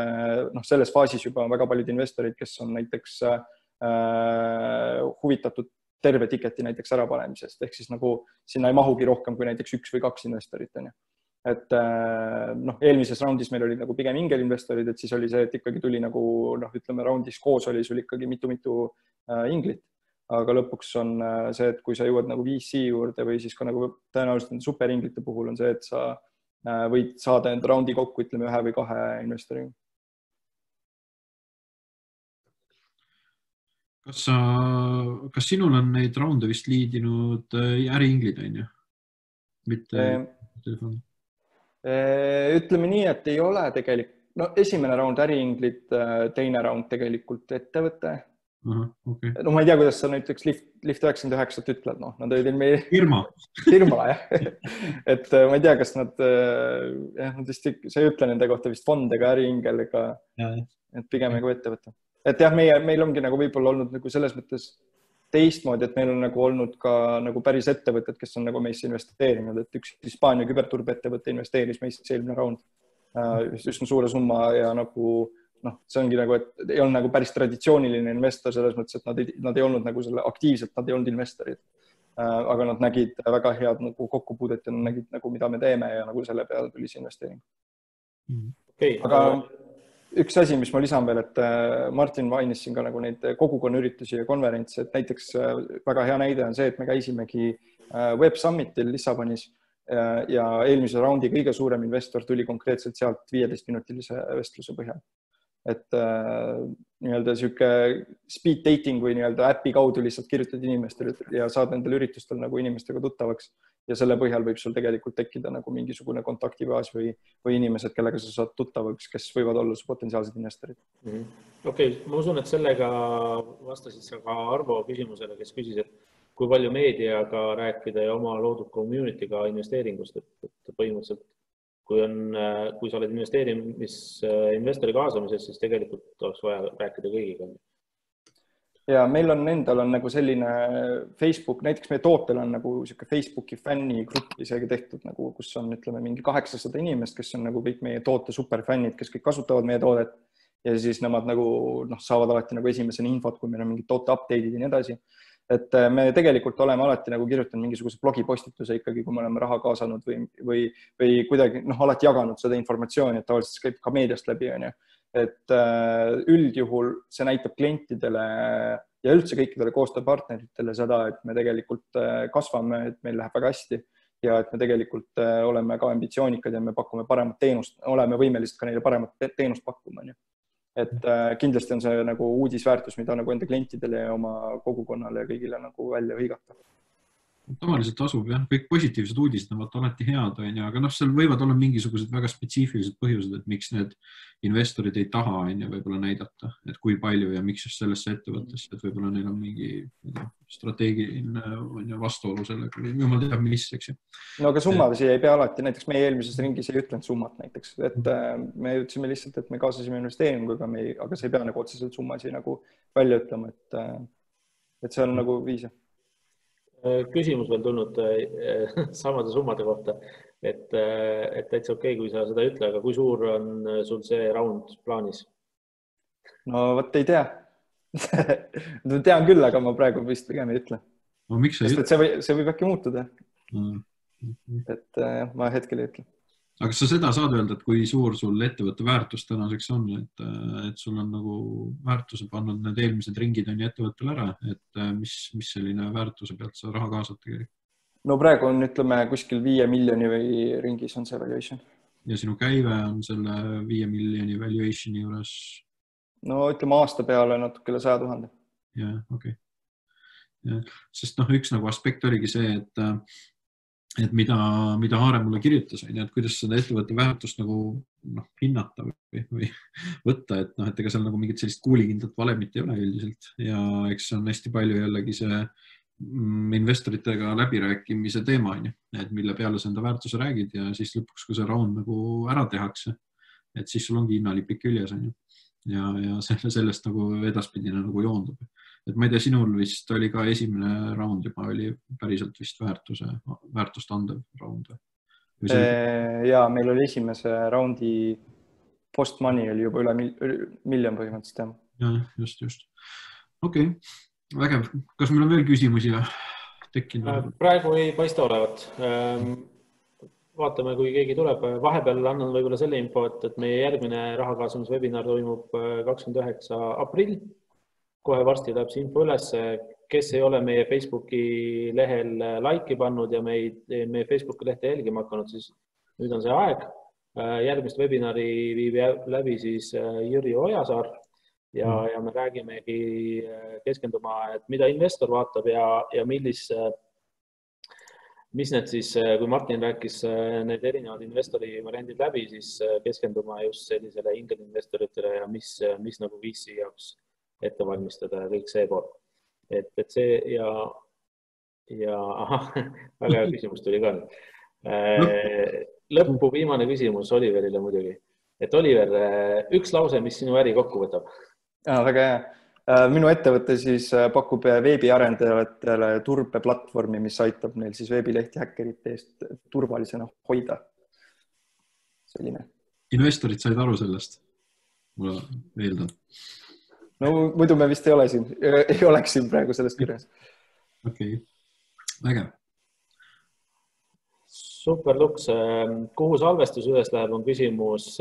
noh, selles faasis juba on väga paljud investorid, kes on näiteks äh, huvitatud terve tiketi näiteks ärapanemisest, ehk siis nagu sinna ei mahugi rohkem kui näiteks üks või kaks investorit, on ju. Et noh, eelmises raundis meil olid nagu pigem ingelinvestorid, et siis oli see, et ikkagi tuli nagu, noh, ütleme, raundis koos oli sul ikkagi mitu-mitu inglit, aga lõpuks on see, et kui sa jõuad nagu V C juurde või siis ka nagu tõenäoliselt superinglite puhul on see, et sa võid saada enda raundi kokku, ütleme, ühe või kahe investoriga. Kas, sa, kas sinul on neid raunde vist liidinud äriinglid, on ju? Mitte e telefoni? Ütleme nii, et ei ole tegelikult, no esimene raund äriinglid, teine raund tegelikult ettevõte. Aha, okay. No ma ei tea, kuidas sa näiteks Lift, Lift üheksakümmend üheksa ütled, noh, nad olid meie... Firma. Firma, jah. Et ma ei tea, kas nad, jah, nad vist, sa ei ütle nende kohta vist fond ega äriingel, ega, et pigem nagu ettevõte. Et jah, meie, meil ongi nagu võib-olla olnud nagu selles mõttes teistmoodi, et meil on nagu olnud ka nagu päris ettevõtted, kes on nagu meisse investeerinud, et üks Hispaania küberturbe ettevõte investeeris meisse eelmine raund üsna suure summa ja nagu noh, see ongi nagu, et ei olnud nagu päris traditsiooniline investor selles mõttes, et nad ei, nad ei olnud nagu selle aktiivselt, nad ei olnud investorid, aga nad nägid väga head nagu kokkupuudet ja nad nägid nagu, mida me teeme ja nagu selle peale tuli see investeering. Okay. Aga üks asi, mis ma lisan veel, et Martin mainis siin ka nagu neid kogukonna-üritusi ja konverentse, et näiteks väga hea näide on see, et me käisimegi Web Summitil Lissabonis ja eelmise raundi kõige suurem investor tuli konkreetselt sealt viieteist minutilise vestluse põhjal. Et nii-öelda siuke speed dating või nii-öelda äpi kaudu lihtsalt kirjutad inimestele ja saad nendel üritustel nagu inimestega tuttavaks ja selle põhjal võib sul tegelikult tekkida nagu mingisugune kontaktibaas või, või inimesed, kellega sa saad tuttavaks, kes võivad olla su potentsiaalsed investorid. Mm -hmm. Okei, okay, ma usun, et sellega vastasid sa ka Arvo küsimusele, kes küsis, et kui palju meediaga rääkida ja oma loodud community'ga investeeringust, et, et põhimõtteliselt kui, on, kui sa oled investeerimis, investori kaasamises, siis tegelikult oleks vaja rääkida kõigiga. Ja meil on endal on nagu selline Facebook, näiteks meie tootel on nagu siuke Facebooki fännigrupp isegi tehtud, nagu, kus on ütleme mingi kaheksasada inimest, kes on nagu kõik meie toote superfännid, kes kõik kasutavad meie toodet ja siis nemad nagu noh, saavad alati nagu esimesena infot, kui meil on mingid toote update'id ja nii edasi. Et me tegelikult oleme alati nagu kirjutanud mingisuguse blogipostituse ikkagi, kui me oleme raha kaasanud või, või, või kuidagi noh, alati jaganud seda informatsiooni, et tavaliselt käib ka meediast läbi, on ju. Et üldjuhul see näitab klientidele ja üldse kõikidele koostööpartneritele seda, et me tegelikult kasvame, et meil läheb väga hästi ja et me tegelikult oleme ka ambitsioonikad ja me pakume paremat teenust, oleme võimelised ka neile paremat teenust pakkuma, on ju. Et kindlasti on see nagu uudisväärtus, mida nagu enda klientidele ja oma kogukonnale ja kõigile nagu välja hõigata. Tavaliselt tasub, jah. Kõik positiivsed uudised on alati head, on ju, aga noh, seal võivad olla mingisugused väga spetsiifilised põhjused, et miks need investorid ei taha on ju võib-olla näidata, et kui palju ja miks just sellesse ettevõttesse, et võib-olla neil on mingi strateegiline on ju vastuolu sellega, jumal teab mis, eks ju. No aga summadasi ei pea alati, näiteks meie eelmises ringis ei ütlenud summat näiteks, et me ütlesime lihtsalt, et me kaasasime investeeringu, aga, me ei, aga see ei pea nagu otseselt summasi nagu välja ütlema, et, et see on nagu viis. Küsimus veel tulnud samade summade kohta, et, et täitsa okei, kui sa seda ütle, aga kui suur on sul see round plaanis? No võt ei tea. Tean küll, aga ma praegu vist pigem ei ütle. No, miks ei ütle? See, või, see võib äkki muutuda. Mm. Okay. Et ma hetkel ei ütle. Aga kas sa seda saad öelda, et kui suur sul ettevõtte väärtus tänaseks on, et, et sul on nagu väärtuse pannud need eelmised ringid on ju ettevõttel ära, et mis, mis selline väärtuse pealt sa raha kaasad tegelikult? No praegu on, ütleme, kuskil viie miljoni või ringis on see valuation. Ja sinu käive on selle viie miljoni valuationi juures? No ütleme aasta peale natukele saja tuhande. Jah, okei. Okay. Sest noh, üks nagu aspekt oligi see, et et mida, mida Haare mulle kirjutas, et kuidas seda ettevõtte väärtust nagu noh, hinnata või, või võtta, et noh, et ega seal nagu mingit sellist kuulikindlat valemit ei ole üldiselt ja eks on hästi palju jällegi see investoritega läbirääkimise teema, et mille peale sa enda väärtuse räägid ja siis lõpuks, kui see round nagu ära tehakse, et siis sul ongi hinnalipik küljes on ju. Ja, ja selle, sellest nagu edaspidine nagu joondub. Et ma ei tea, sinul vist oli ka esimene round juba oli päriselt vist väärtuse, väärtust andev round. E, ja meil oli esimese roundi post money oli juba üle miljon põhimõtteliselt. Ja, just, just. Okei, okay. Vägev. Kas meil on veel küsimusi tekkinud? Praegu ei paista olevat. Vaatame, kui keegi tuleb. Vahepeal annan võib-olla selle info, et, et meie järgmine rahakaasamiswebinar toimub kakskümmend üheksa aprill. Kohe varsti läheb see info üles. Kes ei ole meie Facebooki lehel like'i pannud ja meid, meie Facebooki lehte jälgima hakanud, siis nüüd on see aeg. Järgmist webinari viib läbi siis Jüri Ojasaar ja, mm. ja me räägimegi keskenduma, et mida investor vaatab ja, ja millis mis need siis, kui Martin rääkis need erinevad investori variandid läbi, siis keskenduma just sellisele ingel-investoritele ja mis, mis nagu V C jaoks ette valmistada ja kõik see pool. Et, et see ja, ja aha, väga hea küsimus tuli ka. Lõppu viimane küsimus Oliverile muidugi. Et Oliver, üks lause, mis sinu äri kokku võtab? Ja, väga hea. Minu ettevõte siis pakub veebiarendajatele turbeplatvormi, mis aitab neil siis veebilehti häkkerite eest turvalisena hoida. Selline. Investorid said aru sellest? Mulle veeldan. No muidu me vist ei ole siin, ei oleks siin praegu sellest kirjas. Okei, okay. Vägev. Super, Luks. Kuhu salvestus üles läheb, on küsimus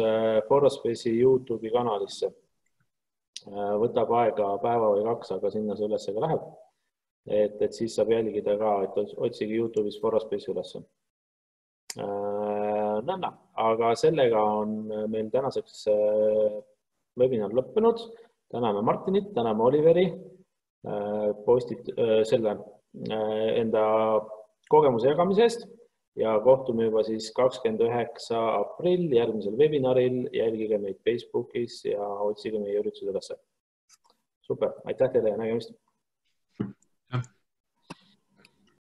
Foraspace'i YouTube'i kanalisse. Võtab aega päeva või kaks, aga sinna see üles ka läheb. Et, et siis saab jälgida ka, et otsigi YouTube'is Foraspace üles. Nõnda, aga sellega on meil tänaseks webinar lõppenud. Täname Martinit, täname Oliveri postit, selle enda kogemuse jagamise eest ja kohtume juba siis kakskümmend üheksa aprill järgmisel webinaril. Jälgige meid Facebookis ja otsige meie üritused üles. Super, aitäh teile ja nägemist!